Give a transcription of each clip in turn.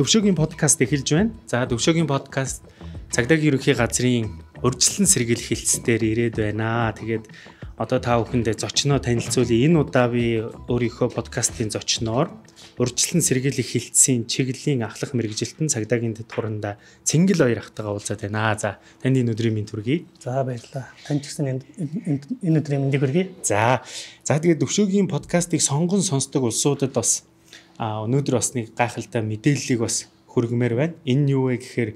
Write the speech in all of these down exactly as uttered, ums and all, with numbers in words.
Төвшөөгийн подкаст эхэлж байна. За Төвшөөгийн подкаст цагдаагийн ерөнхий газрын урьдчилан сэргийлэх хэлтсээр ирээд байна. Тэгээд одоо та бүхэндээ зочноо танилцуулъя. Энэ удаа би өөрийнхөө подкастын зочноор урьдчилан сэргийлэх хэлтсийн чиглэлийн ахлах мэргэжилтэн цагдаагийн дэдгууранда Цэнгэл хоёр ахтайгаа уулзаад байна. За танд энэ өдрийн мэнд хүргэе. За баярлалаа. Танд ч гэсэн энэ өдрийн мэндийг хүргэе. За за тэгээд Төвшөөгийн подкастыг сонгон сонсдог улсуудад бас а өнөөдөр бас нэг гайхалтай мэдээллийг бас хүргэмээр байна. Энэ нь юу вэ гэхээр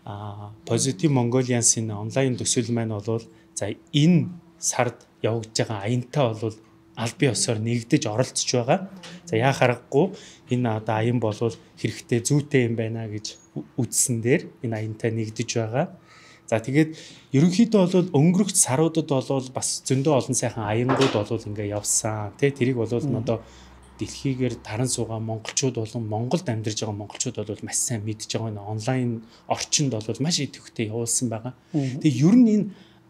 а Positive Mongolians-ийн онлайн төсөл маань болвол за энэ сард явагдаж байгаа аянтаа болвол аль бие осоор нэгдэж оролцож байгаа. За яа харахгүй энэ одоо аян болвол хэрэгтэй зүйтэй юм байна гэж үзсэн дээр энэ аянтаа нэгдэж байгаа. За тэгээд ерөнхийдөө бол өнгөрөх саруудад болвол бас зөндөө олон сайхан аянгууд болвол ингээ явсан. Тэ тэрийг болвол одоо дэлхийгээр таран суугаа монголчууд болон Монголд амьдарч байгаа монголчууд бол маш сайн мэдж байгаа энэ онлайн орчинд бол маш идэвхтэй явуулсан байгаа. Тэгээ ер нь энэ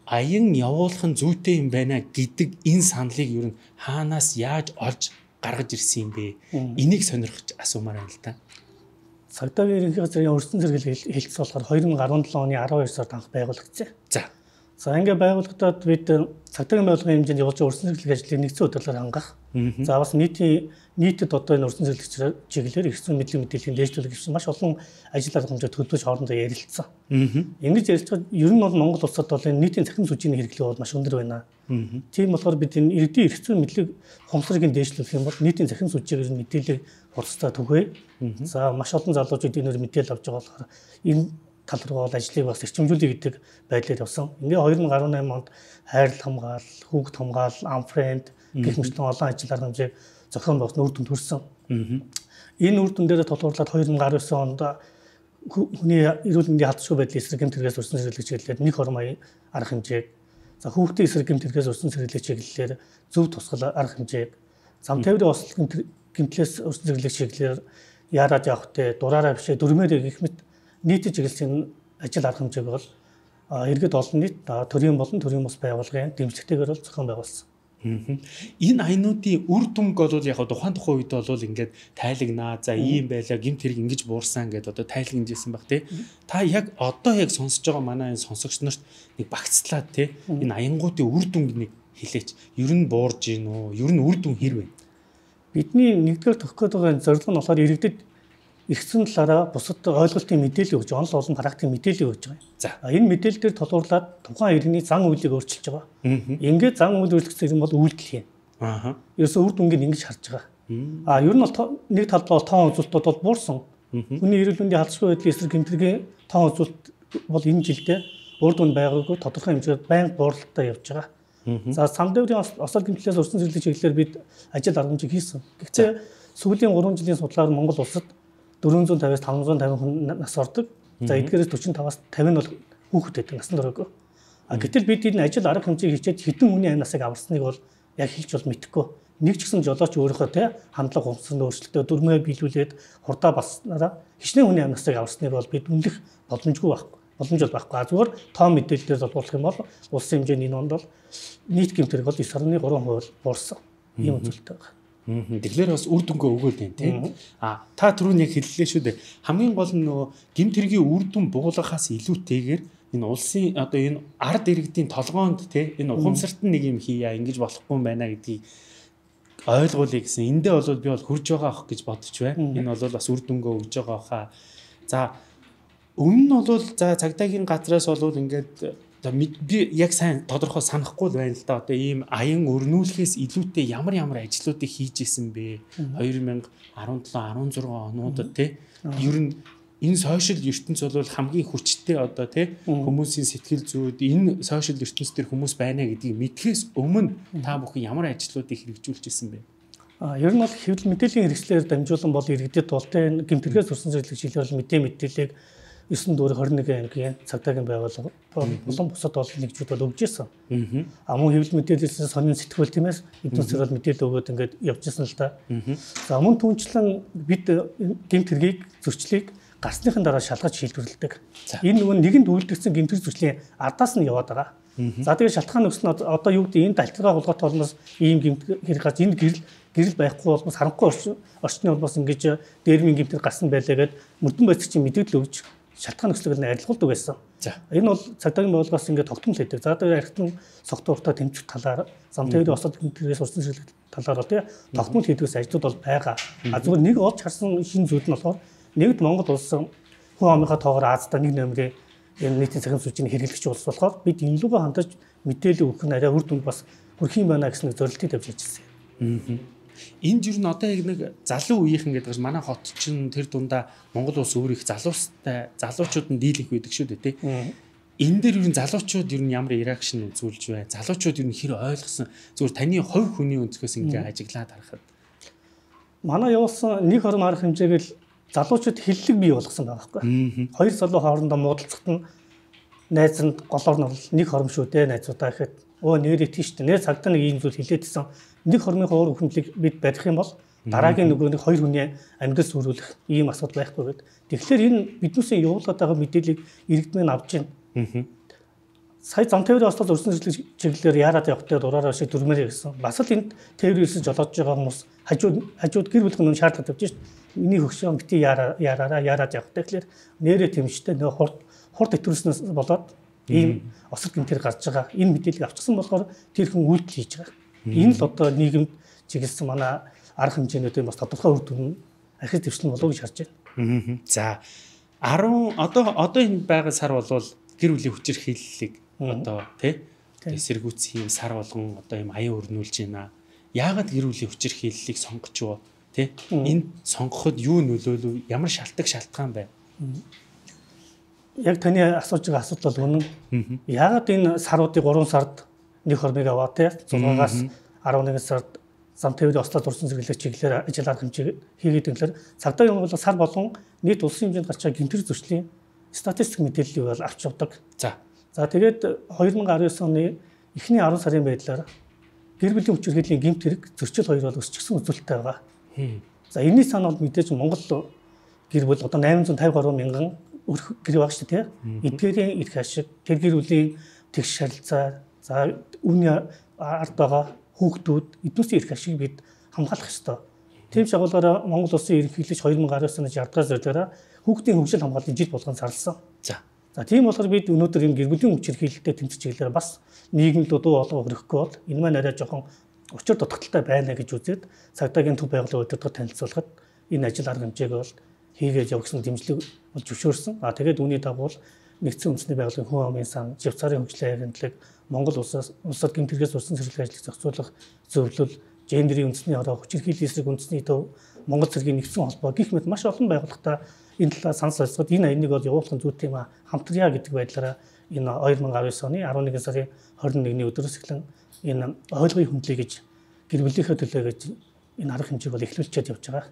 аян явуулах нь зүйтэй юм байна гэдэг энэ саналыг ер нь хаанаас яаж олж гаргаж ирсэн юм бэ? Энийг сонирхож асуумаар байна л да. Цагдаагийн ерөнхий газрын өрсөн сэргийлэх хэлтс болохоор хоёр мың арван долоо оны арван хоёр сард анх байгуулагдсан. За. За ингээ байгуулагдаад бид цагдаагийн байгууллагын хэмжээнд явуулж байгаа өрсөн сэргийлэх ажлыг нэгдсэн хөтөлбөрөөр хангах. За бас нийтийн нийтэд одоо энэ өрсөн сэргийлэх чиглэлээр ирсэн мэдлэг мэдээллийн дээшлүүлэх гэсэн маш олон ажил арга хэмжээ төлөвлөж хоорондоо ярилцсан. Ингэж ярилцгаад ер нь бол Монгол улсад бол энэ нийтийн цахим сүжийн хэрэглээ бол маш өндөр байна. Тийм болохоор бид энэ иргэдийн эрх зүйн мэдлэг ухамсарыг дээшлүүлэх юм бол нийтийн цахим сүжийг мэдээлэл хурцтай түгэй. За маш олон залуучууд энээр мэдээлэл авч байгаа болохоор энэ тал руу бол ажлыг бас эрчимжүүлэх гэдэг байдлаар явсан. Ингээ хоёр мың арван найман онд хайрлах хамгаал, хүүхд хамгаал, амфренд гэх мэт олон ажил арга хэмжээг зохион байгуулсан үр дүнд хүрсэн. Энэ үр дүн дээр тулгуурлаад хоёр мың арван девять онд хүний эрүүл мэндийн хадшгүй байдлын эсрэг гэмт хэрэгээс өрсөн сэргийлэх чиглэлээр нэг хормын арга хэмжээг, за хүүхдийн эсрэг гэмт хэрэгээс өрсөн сэргийлэх чиглэлээр зөв тусгал арга хэмжээг, зам тээврийн ослол гэмтлээс өрсөн сэргийлэх чиглэлээр яарад явах те дураараа бишээ дөрмээр гэх мэт нийтэд чиглэлийн ажил арга хэмжээг бол иргэд олон нийт төрийн болон төрийн бус байгууллагын дэмжлэгтэйгээр бол зохион байгуулсан. Энэ аянуудын үр дүнг бол яг тухайн тухайн үед бол ингээд тайлагнаа. За ийм байлаа, гэмт хэрэг ингэж буурсан гэдээ одоо тайлагнажсэн баг тий. Та яг одоо яг сонсож байгаа манай энэ сонсогч нарт нэг багцлаад тий энэ аянгуудын үр дүнг нэг хэлээч. Ер нь буурж гин үү? Ер нь үр дүн хэр вэ? Бидний нэгдүгээр тохих гээд байгаа зорилго нь болохоор иргэдэд эрхцэн талаараа бусад ойлголтын мэдээлэл өгч, онол олон практикийн мэдээлэл өгч байгаа. За энэ мэдээлэл дээр толгуурлаад тухайн иргэний зан үйлийг өөрчилж байгаа. Ингээд зан үйл өөрчлөгдсөн юм бол үйлдэл юм. Аа. Ерөөсөө үр дүнгийг ингэж харж байгаа. Аа ер нь бол нэг талд бол тоон үзүүлэлтүүд бол буурсан. Хүний эрүүл мэндийн халдшгүй байдлын эсрэг гэмтэргийн тоон үзүүлэлт бол энэ жилдээ үр дүн байгаагүй тодорхой хэмжээгээр байнга буурлалтай явж байгаа. За самдаврын осол гэмтлээс өрсөн сэргийлэх чиглэлээр бид ажил арга хэмжээг хийсэн. Гэхдээ сүүлийн гурван жилийн судлаар Монгол улсад дөрвөн зуун тавиас таван зуун тавин хүн нас ордог. За эдгээрээс дөрвөн тавиас тавин нь бол хүүхэд байдаг, насан туршаагүй. А гэтэл бид энэ ажил арга хэмжээг хийчихэд хэдэн хүний амь насыг аварсныг бол яг хэлж бол мэдэхгүй. Нэг ч гэсэн жолооч өөрийнхөө те хандлага ухамсарын өөрчлөлтөд дөрмөө биелүүлээд хурдаа басснараа хичнээн хүний амь насыг аварсныг бол бид үнэлэх боломжгүй байхгүй. Боломж бол байхгүй. А зүгээр тоон мэдээлэлээр болуулах юм бол улсын хэмжээний энэ онд бол нийт гэмт хэрэг бол девять дасгалан три хувь буурсан. Ийм үзүүлэлт байна. Тэгэхээр бас үр дүнгээ өгөөл байна тийм. А та түрүүн яг хэллээ шүү дээ. Хамгийн гол нь нөгөө гэмт хэргийн үр дүн буулгахаас илүүтэйгээр энэ улсын одоо энэ ард иргэдийн толгоонд тийм энэ ухамсарт нэг юм хийя ингэж болохгүй юм байна гэдгийг ойлгуулъя гэсэн. Эндээ бол би бол хурж байгаа ах гэж бодож байна. Энэ бол бас үр дүнгээ өгж байгаа хаа. За өмнө нь бол за цагдаагийн газраас бол ингээд би яг сайн тодорхой санахгүй байна л да. Одоо ийм аян өрнүүлэхээс илүүтэй ямар ямар ажлуудыг хийж исэн бэ? хоёр мың арван долоо арван зургаан онуудад тий. Ер нь энэ сошиал ертөнц бол хамгийн хүчтэй одоо тий хүмүүсийн сэтгэл зүйд энэ сошиал ертөнц төр хүмүүс байна гэдгийг мэдхээс өмнө та бүхэн ямар ажлуудыг хэрэгжүүлж исэн бэ? А ер нь бол хэвлэл мэдээллийн хэрэгслээр дамжуулан бол иргэдэд бол тий гэмт хэрэгээс сурсан зэрлэг чиглэлээр мэдээ мэдээллийг ертөнц дүүрэг двадцать нэг ангийн цагдаагийн байгууллага болон бусад олон нэгжүүд бол өгж ирсэн. Аа мөн хэвлэл мэдээлэлээс сонин сэтгүүл тиймээс эднүсээр бол мэдээлэл өгөөд ингээд явж ирсэн л да. За мөн түнчлэн бид гэмт хэргийг зөрчлийг гарсныхын дараа шалгаж шийдвэрлэдэг. Энэ нөгөө нэгэнд үйлдэгдсэн гэмт хэрэг зөрчлийн ардаас нь яваад байгаа. За тэгээд шалтгаан өгсөн нь одоо юу гэдэг энэ далтаргаа болгоотой холноос ийм гэмт хэрэг гарч энэ гэрэл гэрэл байхгүй бол бас харанхуй орчны бол бас ингэж дээрмийн гэмтэр гарсан байлаа гэд мөрдөн байцагчийн мэдээлэл өгч шалтгаан нөхцөлөөр нь арилгуулдаг байсан. За энэ бол цагдаагийн байгууллагаас ингээд тогтмол хийдэг. За тэр архитектурын согтууртаа тэмцэх талаар зам тээврийн осод гэмтрээс урсан зэрлэг талаар бол тий тогтмол хийдгээс ажлууд бол байгаа. А зүгээр нэг олж харсан шинэ зүйл нь болохоор нэгд Монгол улс хүн амынхаа тоогоор Аазда нэг нөмрийн энэ нийтийн цахим сүлжээний хэрэглэгч улс болохоор бид энэ лугаа хандаж мэдээлэл өгөх нь арай үр дүнд бас хүрх юм байна гэсэн зорилтыг тавьж ажилласан юм. Энд юу н одоо яг нэг залуу үеийнхэн гэдэг чинь манай хот чинь тэр дундаа Монгол улс өөр их залуустай залуучууд нь дийлэх байдаг шүү дээ тий. Энэ дээр юу н залуучууд юу н ямар реакшн үзүүлж бай. Залуучууд юу н хэр ойлгосон зүгээр таны хувь хүний өнцгөөс ингээ ажиглаад харахад. Манай явуулсан нэг хором арга хэмжээгэл залуучууд хиллэг бий болгосон байгаа байхгүй. Хоёр залуу хоорондоо муудалцахт нь найзанд голоор нь нэг хором шүү дээ найзуудаа гэхэд өө нэрээ тийш дээ. Нэр цагдаа нэг ийм зүйл хэлээдсэн. Нэг хормын хуур хүндлийг бид барих юм бол дараагийн нөгөө нэг хоёр хүний амьдрал сүрүүлэх ийм асуудал байхгүй гэдэг. Тэгэхээр энэ биднээсээ явуулаад байгаа мэдээллийг иргэдмэн авч байна. Сая зам тээврийн ослол урьдчилан чиглэлээр яарад явахтай дураараа шиг дүрмээр гэсэн. Бас л энд тээврээс жолоодж байгаа хүмүүс хажууд хажууд гэр бүлийн нүн шаардлагатай тавьж шít. Миний хөгшөө бити яараа яараа яарад явахтай. Тэгэхээр нэрээ тэмштэй нөгөө хурд хурд итгэвчнээс болоод ийм осол гэмтэр гарч байгаа. Энэ мэдээллийг авчихсан болохоор тэр хүн үйлдэл хийж байгаа. Энэ л одоо нийгэмд чиглэсэн манай арга хэмжээнүүдийн бас тодорхой үр дүн архив дэвшлэн болов гэж харж байна. За десять одоо одоо энэ байгаа сар болвол гэр бүлийн хүчирхийллийг одоо тий эсэргүүцэх юм сар болгон одоо юм аян өрнүүлж байна. Яагаад гэр бүлийн хүчирхийллийг сонгож юу тий энд сонгоход юу нөлөөлөв ямар шалтгаан шалтгаан байв? Яг таны асууж байгаа асуудал бол үнэн. Яагаад энэ саруудыг гурван сард нэг хормыг аваа тий зургаагаас арван нэгэн сард зам тээврийн ослол урьдчилан зэрэглэх чиглэлээр ажил арга хэмжээ хийгээд ингээр цагдаа юм бол сар болгон нийт улсын хэмжээнд гарч байгаа гэмтэр зөрчлийн статистик мэдээллийг бол авч явдаг. За. За тэгээд две тысячи десять оны эхний десять сарын байдлаар гэр бүлийн хүчирхийллийн гэмт хэрэг зөрчил хоёр бол өсчихсөн үзүүлэлттэй байгаа. За энэний сан бол мэдээж Монгол гэр бүл одоо восемь hundred fifty-three мянган өрх гэр баг шүү дээ. Эдгээрийн эрх ашиг, тэр гэр бүлийн тэгш харилцаа, за үүний ард байгаа хүүхдүүд эднүсийн эрх ашиг бид хамгаалах ёстой. Тийм шагуулаараа Монгол улсын ерөнхийлөгч две тысячи десять оны шаардлагаас зөрчилөөрөө хүүхдийн хөгжил хамгааллын жил болгон зарласан. За. За тийм болохоор бид өнөөдөр энэ гэр бүлийн хүчирхийлэлтэй тэмцэж чиглэлээр бас нийгэмд дуу олгох өрөхгүй бол энэ маань арай жоохон учир дутагдaltaй байна гэж үзээд цагдаагийн төв байгууллага өдөртөд танилцуулахад энэ ажил арга хэмжээг бол хийгээд явах гэсэн дэмжлэг бол зөвшөөрсөн. А тэгээд үүний дагуу нэгдсэн үндэсний байгууллагын хүн амын сан, живцаарын хөгжлийн агентлаг, Монгол улсаас улсад гэмтэргээс урьдчилан зэрэглэх ажлыг зохицуулах зөвлөл, гендерийн үндэсний хороо, хүчирхийллийн эсрэг үндэсний төв, Монгол цэргийн нэгдсэн холбоо гэх мэт маш олон байгууллагатай энэ талаар санал солилцоход энэ аяныг бол явуулах зүйтэй юм а хамтрая гэдэг байдлаараа энэ две тысячи девять оны eleven сарын twenty-one-ний өдрөөс эхлэн энэ ойлгоёын хөндлөе гэж гэр бүлийнхээ төлөө гэж энэ арга хэмжээг бол эхлүүлчихэд явж байгаа.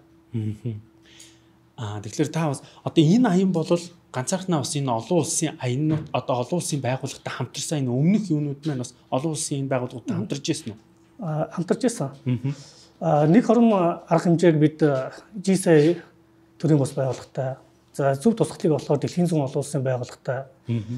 Аа тэгэхээр та бас одоо энэ аян бол ганцаархнаа бас энэ олон улсын аяннууд одоо олон улсын байгууллагатай хамтарсан энэ өмнөх юунууд маань бас олон улсын энэ байгууллагуудтай хамтарч ирсэн үү? Аа хамтарч ирсэн. Аа нэг хором арга хэмжээг бид джи эс эй төрийн бас байгууллагатай, за зөв тусгалыг болохоор дэлхийн зүүн олон улсын байгууллагатай,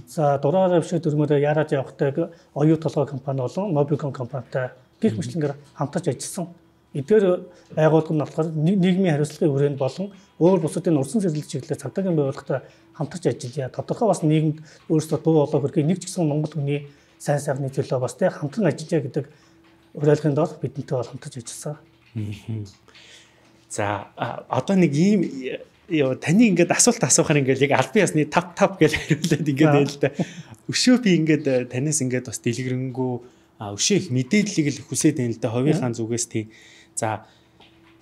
за дураараа бишээ дөрмөөр яарад явахтай оюу толгой компани болон Mobicom компанитай гих мэтлэнгээр хамтарч ажилласан. Эдгээр байгууллага нь болохоор нийгмийн хариуцлагын хүрээнд болон өөр бусдын урьдчилан зэрэглэх чиглэлээр цагдаагийн байгууллагатай хамтарч ажиллая. Тодорхой бас нийгэмд өөрсдөө дуу хоолой хүргэе, нэг ч гэсэн Монгол хүний сайн сайхны төлөө бас тэ хамтран ажиллая гэдэг уриалгын дор бидэнтэй бол хамтарч ажилласан. За одоо нэг ийм таны ингээд асуулт асуухаар ингээд яг албан ёсны тав тав гэж хариулаад ингээд байл л да. Өшөө би ингээд танаас ингээд бас дэлгэрэнгүй өшөө их мэдээллийг л хүсээд байна л да. Ховийнхаа зүгээс тийм. За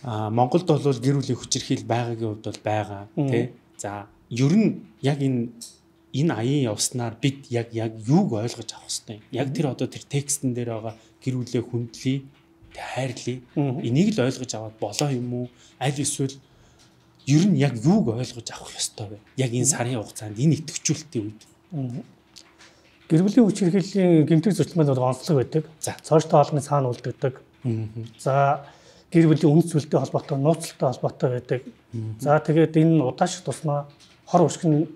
Монголд бол гэр бүлийн хүчирхийл байгаагийн хувьд бол байгаа тий. За ер нь яг энэ энэ аян явснаар бид яг яг юуг ойлгож авах хэрэгтэй. Яг тэр одоо тэр текстэн дээр байгаа гэр бүлээ хүндлэе, хайрлая. Энийг л ойлгож аваад болоо юм уу? Аль эсвэл ер нь яг юуг ойлгож авах ёстой вэ? Яг энэ сарын хугацаанд энэ идэвхжүүлэлтийн үед. Гэр бүлийн хүчирхийллийн гэмтэг зөрчил маань онцлог байдаг. За цоочтой хоолны цаана үлддэг. За гэр бүлийн үнэт зүйлтэй холбоотой, нууцтай холбоотой байдаг. За тэгээд энэ удаашрах тусмаа хор уршигны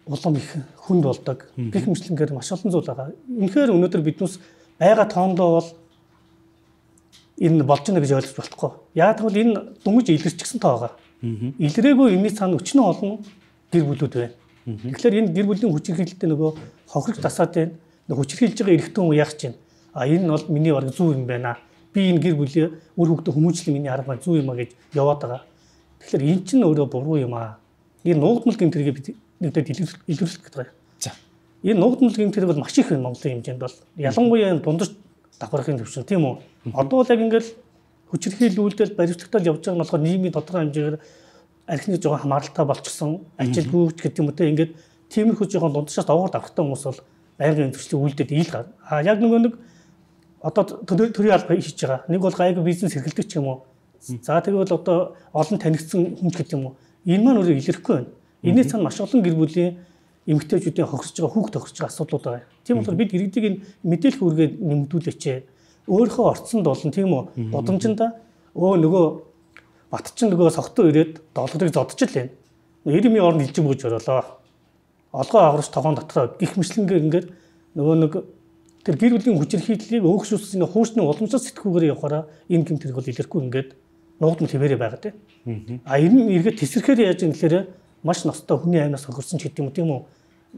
улам их хүнд болдог. Гэх мэтлэнгээр маш олон зүйл байгаа. Үнэхээр өнөөдөр биднээс байгаа тоондоо бол энэ болж байна гэж ойлгож болохгүй. Яг тэгвэл энэ дүнж илэрчихсэн тоо байгаа. Илрээгүй энэний цаана өчнөө олон гэр бүлүүд байна. Тэгэхээр энэ гэр бүлийн хүчирхийлэлтэй нөгөө хохирч тасаад байна. Хүчирхийлж байгаа эрэгтэй хүн яах чинь? А энэ нь бол миний баг зүү юм байна. Би энэ гэр бүлийн үр хөвгтө хүмүүжлэн миний арга маань зүү юм а гэж яваад байгаа. Тэгэхээр эн чинь өөрөө буруу юм а. Энэ нуугдмал гэмтэргээ бид нэгдээд илэрүүлэх гэдэг байна. За. Энэ нуугдмал гэмтэрэг бол маш их байна Монголын хэмжээнд бол. Ялангуяа энэ дундаж давхархын төвшин тийм үү? Одоо л яг ингээл хүчирхийлүүлдэл баримтлагтал явж байгаа нь болохоор нийгмийн тодорхой хэмжээгээр архины жоохон хамааралтай болчихсон, ажилгүйч гэдэг юм уу те ингээд тиймэрхүү жоохон дундчаас овоор давхартай хүмүүс бол байнгын төвчлөг үйлдэл ил гар. А яг нөгөө нэг одоо төрийн алба хийж байгаа. Нэг бол гайгүй бизнес эрхэлдэг ч юм уу. За тэгвэл одоо олон танигдсан хүн гэдэг юм уу. Энэ маань өөрөө илэрхгүй байна. Энэний цаана маш олон гэр бүлийн эмэгтэйчүүдийн хохирч байгаа, хүүхд тохирч байгаа асуудлууд байгаа. Тийм болохоор бид иргэдийг энэ мэдээлэх үүргээ нэмэгдүүлээч. Өөрийнхөө орцонд болон тийм үү удамжинда өө нөгөө батчин нөгөө согтуу ирээд долларыг зодч л байна. Ирэмийн орнд илжиг бууж оруулаа. Олгоо агаарч тогоон дотроо гих мэтлэнгээр ингээд нөгөө нэг тэр гэр бүлийн хүчирхийллийг өөгшүүлсэн ингээ хуучны уламжлалт сэтгүүгээр явахаараа энэ гэмтэрэг бол илэрхгүй ингээд нуугдмал хэмээрээ байгаа тийм. А энэ эргээд тесрэхээр яаж юм гэхээр маш ностой хүний аймнаас хохирсон ч гэдэг юм тийм үү.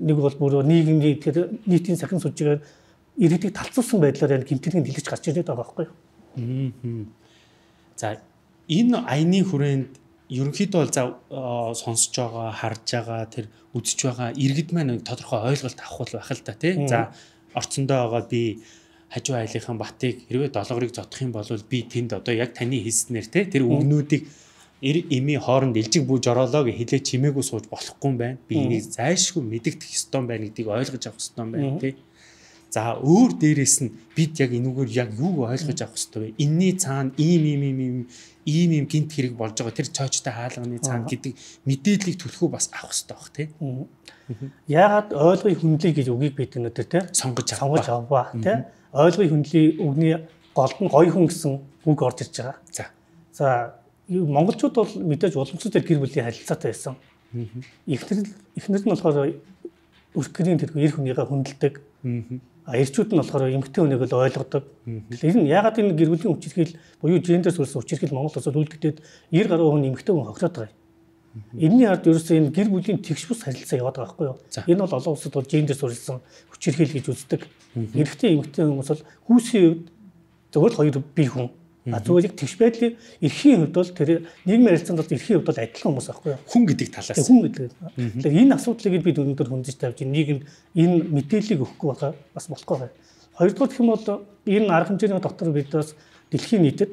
Нэг бол бүр нийгмийн тэр нийтийн сахин сүжигээр иргэдийг талцуулсан байдлаар энэ гэмтэрийг дэлгэж гарч ирээд байгаа байхгүй юу. За энэ аяны хүрээнд ерөнхийдөө бол за сонсож байгаа, харж байгаа, тэр үзэж байгаа иргэд маань тодорхой ойлголт авах байх л та тий. За орцондоо байгаа би хажуу айлынхан батыг хэрвээ долоорыг зодох юм бол би тэнд одоо яг таны хэлснээр тий тэр үгнүүдийг эр эми хооронд илжиг бууж ороолоо гэж хэлээ чимээгүй сууж болохгүй юм байна. Би энийг зайлшгүй мэдэгдэх ёстой юм байна гэдгийг ойлгож авах ёстой юм байна тий. За өөр дээрээс нь бид яг энүүгээр яг юу ойлгож авах ёстой вэ? Энийний цаана ийм ийм ийм ийм ийм ийм гинт хэрэг болж байгаа тэр цоочтой хаалганы цаана гэдэг мэдээллийг төлөхөө бас авах ёстой бах тий. Яагаад ойлгоё хүндлэе гэж үгийг бид өнөдөр тий сонгож сонгож аваа тий. Ойлгоё хүндлэе үгний голд нь гоё хүн гэсэн үг орж ирж байгаа. За. За монголчууд бол мэдээж уламжлалт гэр бүлийн харилцаатай байсан. Эхнэр эхнэр нь болохоор өрхгөрийн тэргүй эр хүнийгээ хүндэлдэг. А эрчүүд нь болохоор эмэгтэй хүнийг л ойлгодог. Тэгэхээр энэ ягаад энэ гэр бүлийн хүчирхийл буюу гендер сүрсэн хүчирхийл Монгол улсад үлдэгдээд девять гаруй хүн эмэгтэй хүн хохироод байгаа юм. Энэний ард ерөөсөө энэ гэр бүлийн тэгш бус харилцаа яваад байгаа байхгүй юу? Энэ бол олон улсад бол гендер сүрсэн хүчирхийл гэж үздэг. Эрэгтэй эмэгтэй хүмүүс бол хүүсийн үед зөвхөн хоёр бие хүн. А зүгээр яг тэгш байдлын эрхийн хувьд бол тэр нийгмийн харилцаанд бол эрхийн хувьд бол адилхан хүмүүс байхгүй юу? Хүн гэдэг талаас. Хүн гэдэг. Тэгэхээр энэ асуудлыг бид өнөөдөр хөндөж тавьж нийгэмд энэ мэдээллийг өгөхгүй байгаа бас болохгүй байна. Хоёрдугаар гэх юм бол энэ арга хэмжээний дотор бид бас дэлхийн нийтэд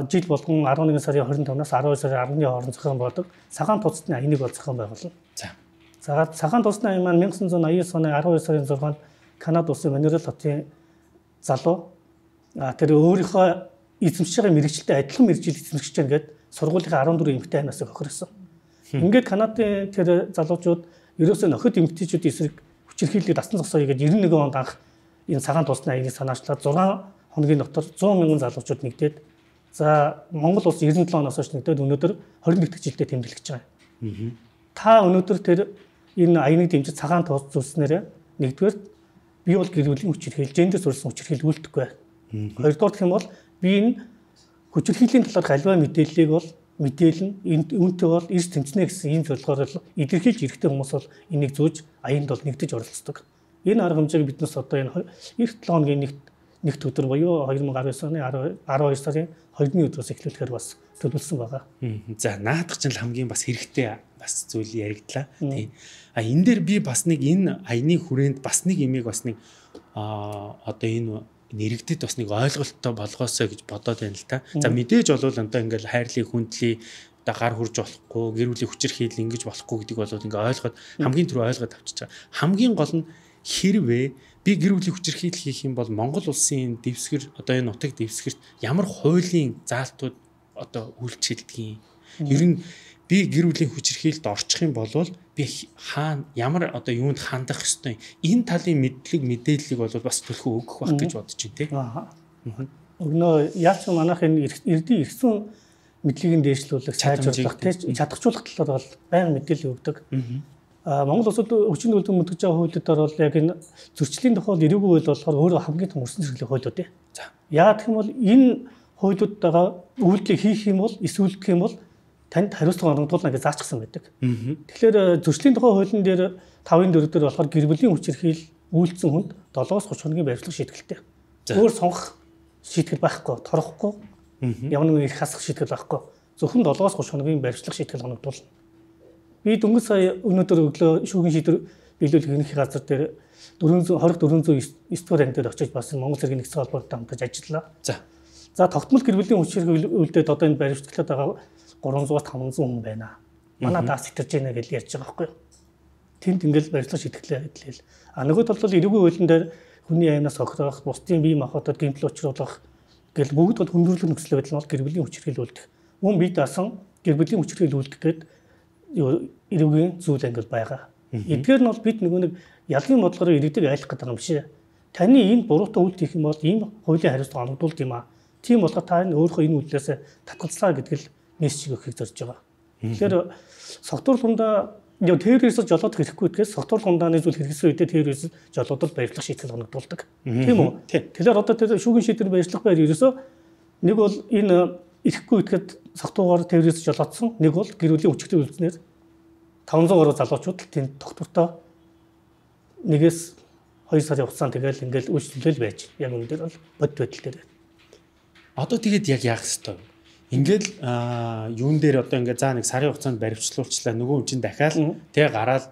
жил болгон арван нэгэн сарын хорин тавнаас арван хоёр сарын арваны хооронд зохион болдог цагаан тусцны аяныг бол зохион байгуулна. За. За цагаан тусцны аян маань 천구 сая аян оны арван хоёр сарын зургаанд Канада улсын Монреаль хотын залуу тэр өөрийнхөө эзэмшиж байгаа мэрэгчлээ адилхан мэрэгжил эзэмшиж байгаа гэдэг сургуулийнхаа арван дөрвөн эмэгтэй аймнаас хохирсон. Ингээд Канадын тэр залуучууд ерөөсөө нөхөд эмэгтэйчүүд эсрэг хүчирхийллийг дасан зогсоё гэж девяносто нэгэн онд анх энэ цагаан тусны аяныг санаачлаад зургаан хоногийн дотор зуун мянган залуучууд нэгдээд за Монгол улс девяносто седем оноос хойш нэгдээд өнөөдөр двадцать дэх жилдээ тэмдэглэж байгаа. Та өнөөдөр тэр энэ аяныг дэмжиж цагаан тус зүйлснээр нэгдүгээр би бол гэр бүлийн хүчирхийл, гендер суурилсан хүчирхийл үлдэхгүй байна. Хоёрдугаар гэх юм бол би энэ хүчирхийллийн талаарх аливаа мэдээллийг бол мэдээлнэ. Энд үүнтэй бол эрс тэмцэнэ гэсэн ийм зорилгоор л илэрхийлж эрхтэй хүмүүс бол энийг зөөж аянд бол нэгдэж оролцдог. Энэ арга хэмжээг биднес одоо энэ эх седем хоногийн нэгт нэгт өдөр буюу две тысячи девятнадцать оны арван хоёр сарын хоёрны өдрөөс эхлүүлэхээр бас төлөвлөсөн байгаа. За наадах чинь хамгийн бас хэрэгтэй бас зүйл яригдлаа. Тийм. А энэ дээр би бас нэг энэ аяны хүрээнд бас нэг имийг бас нэг а одоо энэ нэрэгдэд бас нэг ойлголттой болгоосоо гэж бодоод байна л та. За мэдээж болвол одоо ингээл хайрлыг хүндлий одоо гар хурж болохгүй, гэр бүлийн хүчирхийл ингэж болохгүй гэдгийг болоод ингээ ойлгоод хамгийн түрүү ойлгоод авчиж байгаа. Хамгийн гол нь хэрвээ би гэр бүлийн хүчирхийл хийх юм бол Монгол улсын дэвсгэр одоо энэ нутаг дэвсгэрт ямар хуулийн заалтууд одоо үйлчилдгийг ер нь би гэр бүлийн хүчирхийлд орчих юм бол би хаана ямар одоо юунд хандах ёстой энэ талын мэдлэг мэдээллийг бол бас төлхөө өгөх байх гэж бодож байна тий. Аа. Өгнөө яаж ч манайх энэ эрдийн ирсэн мэдлэгийг дээшлүүлэх, сайжруулах, тий чадахжуулах талаар бол байнга мэдээлэл өгдөг. Аа Монгол улсад өчигдөр үлдэн мэдгэж байгаа хуулиудаар бол яг энэ зөрчлийн тухай ирээгүй хууль болохоор өөрөө хамгийн том өрсөн зэрэглэх хуулиуд тий. За. Яагаад гэх юм бол энэ хуулиудтайгаа үйлдэл хийх юм бол эсвэл гэх юм бол танд хариуцлага оногдуулна гэж заачсан байдаг. Тэгэхээр зөрчлийн тухай хуулийн дээр тавын дөрөв дээр болохоор гэр бүлийн хүчирхийл үйлдсэн хүнд долоос гурван хоногийн баримтлах шийтгэлтэй. Өөр сонгох шийтгэл байхгүй, торгохгүй, ямар нэгэн их хасах шийтгэл байхгүй. Зөвхөн долоос гурван хоногийн баримтлах шийтгэл оногдуулна. Би дөнгөж сая өнөөдөр өглөө шүүхийн шийдвэр биелүүлэх ерөнхий газар дээр дөрвөн зуун хорих дөрвөн зуун эс дугаар анги дээр очиж бас Монгол Цэргийн нэгдсэн холбоотой хамтарч ажиллаа. За. За тогтмол гэр бүлийн хүчирхийл үйлдэлд одоо энэ баримтлаад байгаа гурван зуун таван зуун хүн байна. Манай даас сэтэрж байна гэж ярьж байгаа байхгүй юу? Тэнд ингээл баримтлах шийтгэлээ хэлээл. А нөгөө талд бол эрүүгийн хуулийн дээр хүний аймнаас хохирох, бусдын бие махбодод гэмтэл учруулах гэл бүгд бол хүндрэлт нөхцөл байдал нь гэр бүлийн хүчирхийл үйлдэх. Мөн бие даасан гэр бүлийн хүчирхийл үйлдэх гээд эрүүгийн зүйл ангил байгаа. Эдгээр нь бол бид нөгөө нэг ялгийн бодлогоор иргэдэг айлах гэдэг юм биш. Таны энэ буруутай үйлдэл хийх юм бол ийм хуулийн хариуцлага оногдуулд юм аа. Тийм болохоор та энэ өөрөө энэ үйлдэлээс татгалцлаа гэдэг л мессеж өгөхийг зорж байгаа. Тэгэхээр согтуур хундаа яг террорист жолоодох хэрэггүй гэдгээс согтуур хундааны зүйл хэрэгсэн үедээ террорист жолоодол баярлах шийтгэл оногдуулдаг. Тийм үү? Тэгэхээр одоо тэр шүүгийн шийдвэр баярлах байр ерөөсөө нэг бол энэ ирэхгүй гэдгээд согтуугаар террорист жолоодсон, нэг бол гэр бүлийн хүчтэй үйлдснээр таван зуун гаруй залуучууд тэнд доктортой нэгээс хоёр сарын хугацаанд тэгэл ингээл үйлчлэл байж яг энэ дээр бол бод байдал дээр. Одоо тэгээд яг яах ёстой вэ? Ингээл юун дээр одоо ингээд за нэг сарын хугацаанд баримтлуулчлаа нөгөө хүн чинь дахиад тэг гараад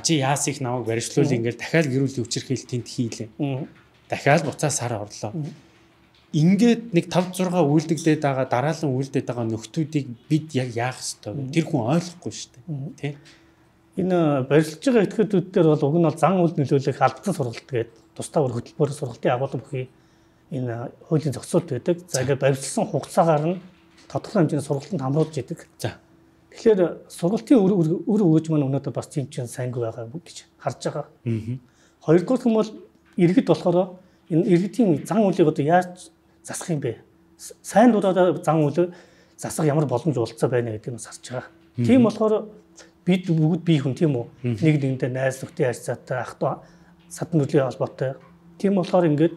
чи яас их намайг баримтлуул ингээл дахиад гэр бүлийн хүчирхийл тэнд хийлээ. Дахиад буцаа сар орлоо. Ингээд нэг тавь зураг үйлдэгдээд байгаа дараалан үйлдээд байгаа нөхдүүдийг бид яг яах ёстой вэ? Тэр хүн ойлгохгүй шүү дээ. Тэ? Энэ барилж байгаа этгээдүүд дээр бол уг нь бол зан үйл нөлөөлөх албан сургалт гэдэг тусдаа өөр хөтөлбөр сургалтын агуулга бүхий энэ хуулийн зохицуулт байдаг. За ингээд барилсан хугацаагаар нь тодорхой хэмжээний сургалтанд хамруулж идэг. За. Тэгэхээр сургалтын үр үр өгөөж маань өнөөдөр бас тийм ч сайнгүй байгаа гэж харж байгаа. Хоёрдугаар нь бол иргэд болохоор энэ иргэдийн зан үйлийг одоо яаж засах юм бэ? Сайн дураараа зан үйлээ засах ямар боломж олцоо байна гэдэг нь сарж байгаа. Тийм болохоор бид бүгд бие хүн тийм үү? Нэг нэгэндээ найз нөхдөд харьцаатай, ах トゥ садан нүрийн холбоотой. Тийм болохоор ингээд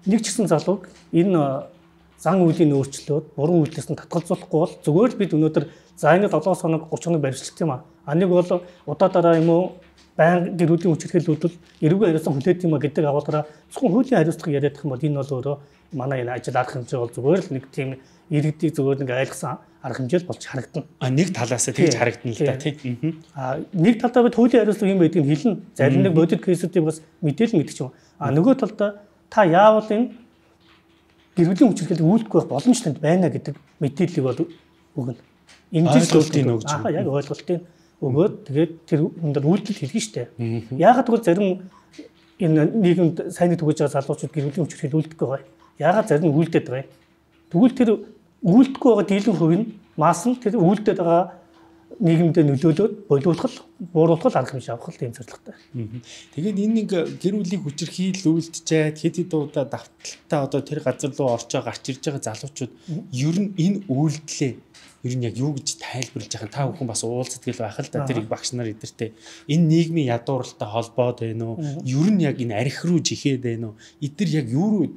нэг ч гэсэн залууг энэ зан үйлийн өөрчлөлт буруу үйлдэлс нь татгалзуулахгүй бол зүгээр л бид өнөөдөр за ингэ долоос хоног гурван хоног баримтлалт юм аа. А нэг бол удаа дараа юм уу баян гэр бүлийн хүчирхийл үйлдэл эрүүгийн хариуцлага хүлээдэг юм а гэдэг агуулгаараа зөвхөн хуулийн хариуцлага яриад их юм бол энэ бол өөрөө манай энэ ажил арга хэмжээ бол зүгээр л нэг тийм иргэдийг зүгээр нэг айлгсан арга хэмжээл болж харагдана. А нэг талаас тэгж харагдана л да тийм. А нэг талдаа бид хуулийн хариуцлага юм байдгийг хэлнэ. Зарим нэг бодит кейсүүдийг бас мэдээлэл мэдчих юм. А нөгөө талдаа та яавал энэ гэр бүлийн хүчирхийлэл үйлдэхгүй байх боломж танд байна гэдэг мэдээллийг бол өгнө. Ингэж ойлголтын өгч. Аа яг ойлголтын өгөөд тэгээд тэр өндөр үйлдэл хийлгэн штэ. Яагаад гэвэл зарим энэ нийгэмд сайн төгөж байгаа залуучууд гэр бүлийн хүчирхийлэл үйлдэхгүй байгаа. Яагаад зарим нь үйлдээд байгаа юм. Тэгвэл тэр үйлдэхгүй байгаа дийлэн хувь нь маас нь тэр үйлдээд байгаа нийгэмдээ нөлөөлөөд болиулах, бууруулах арга хэмжээ авах тийм зорилготой. Тэгээд энэ нэг гэр бүлийн хүчирхийлэл үйлдчихэд хэд хэд удаа давталтаа одоо тэр газар руу орчоо гарч ирж байгаа залуучууд ер нь энэ үйлдэлээ ер нь яг юу гэж тайлбарлаж байгаа та бүхэн бас уулздаг л байх л да тэр их багш нар эдэртэй энэ нийгмийн ядууралтай холбоод байна уу? Ер нь яг энэ архи руу жихэд байна уу? Эдгээр яг юу руу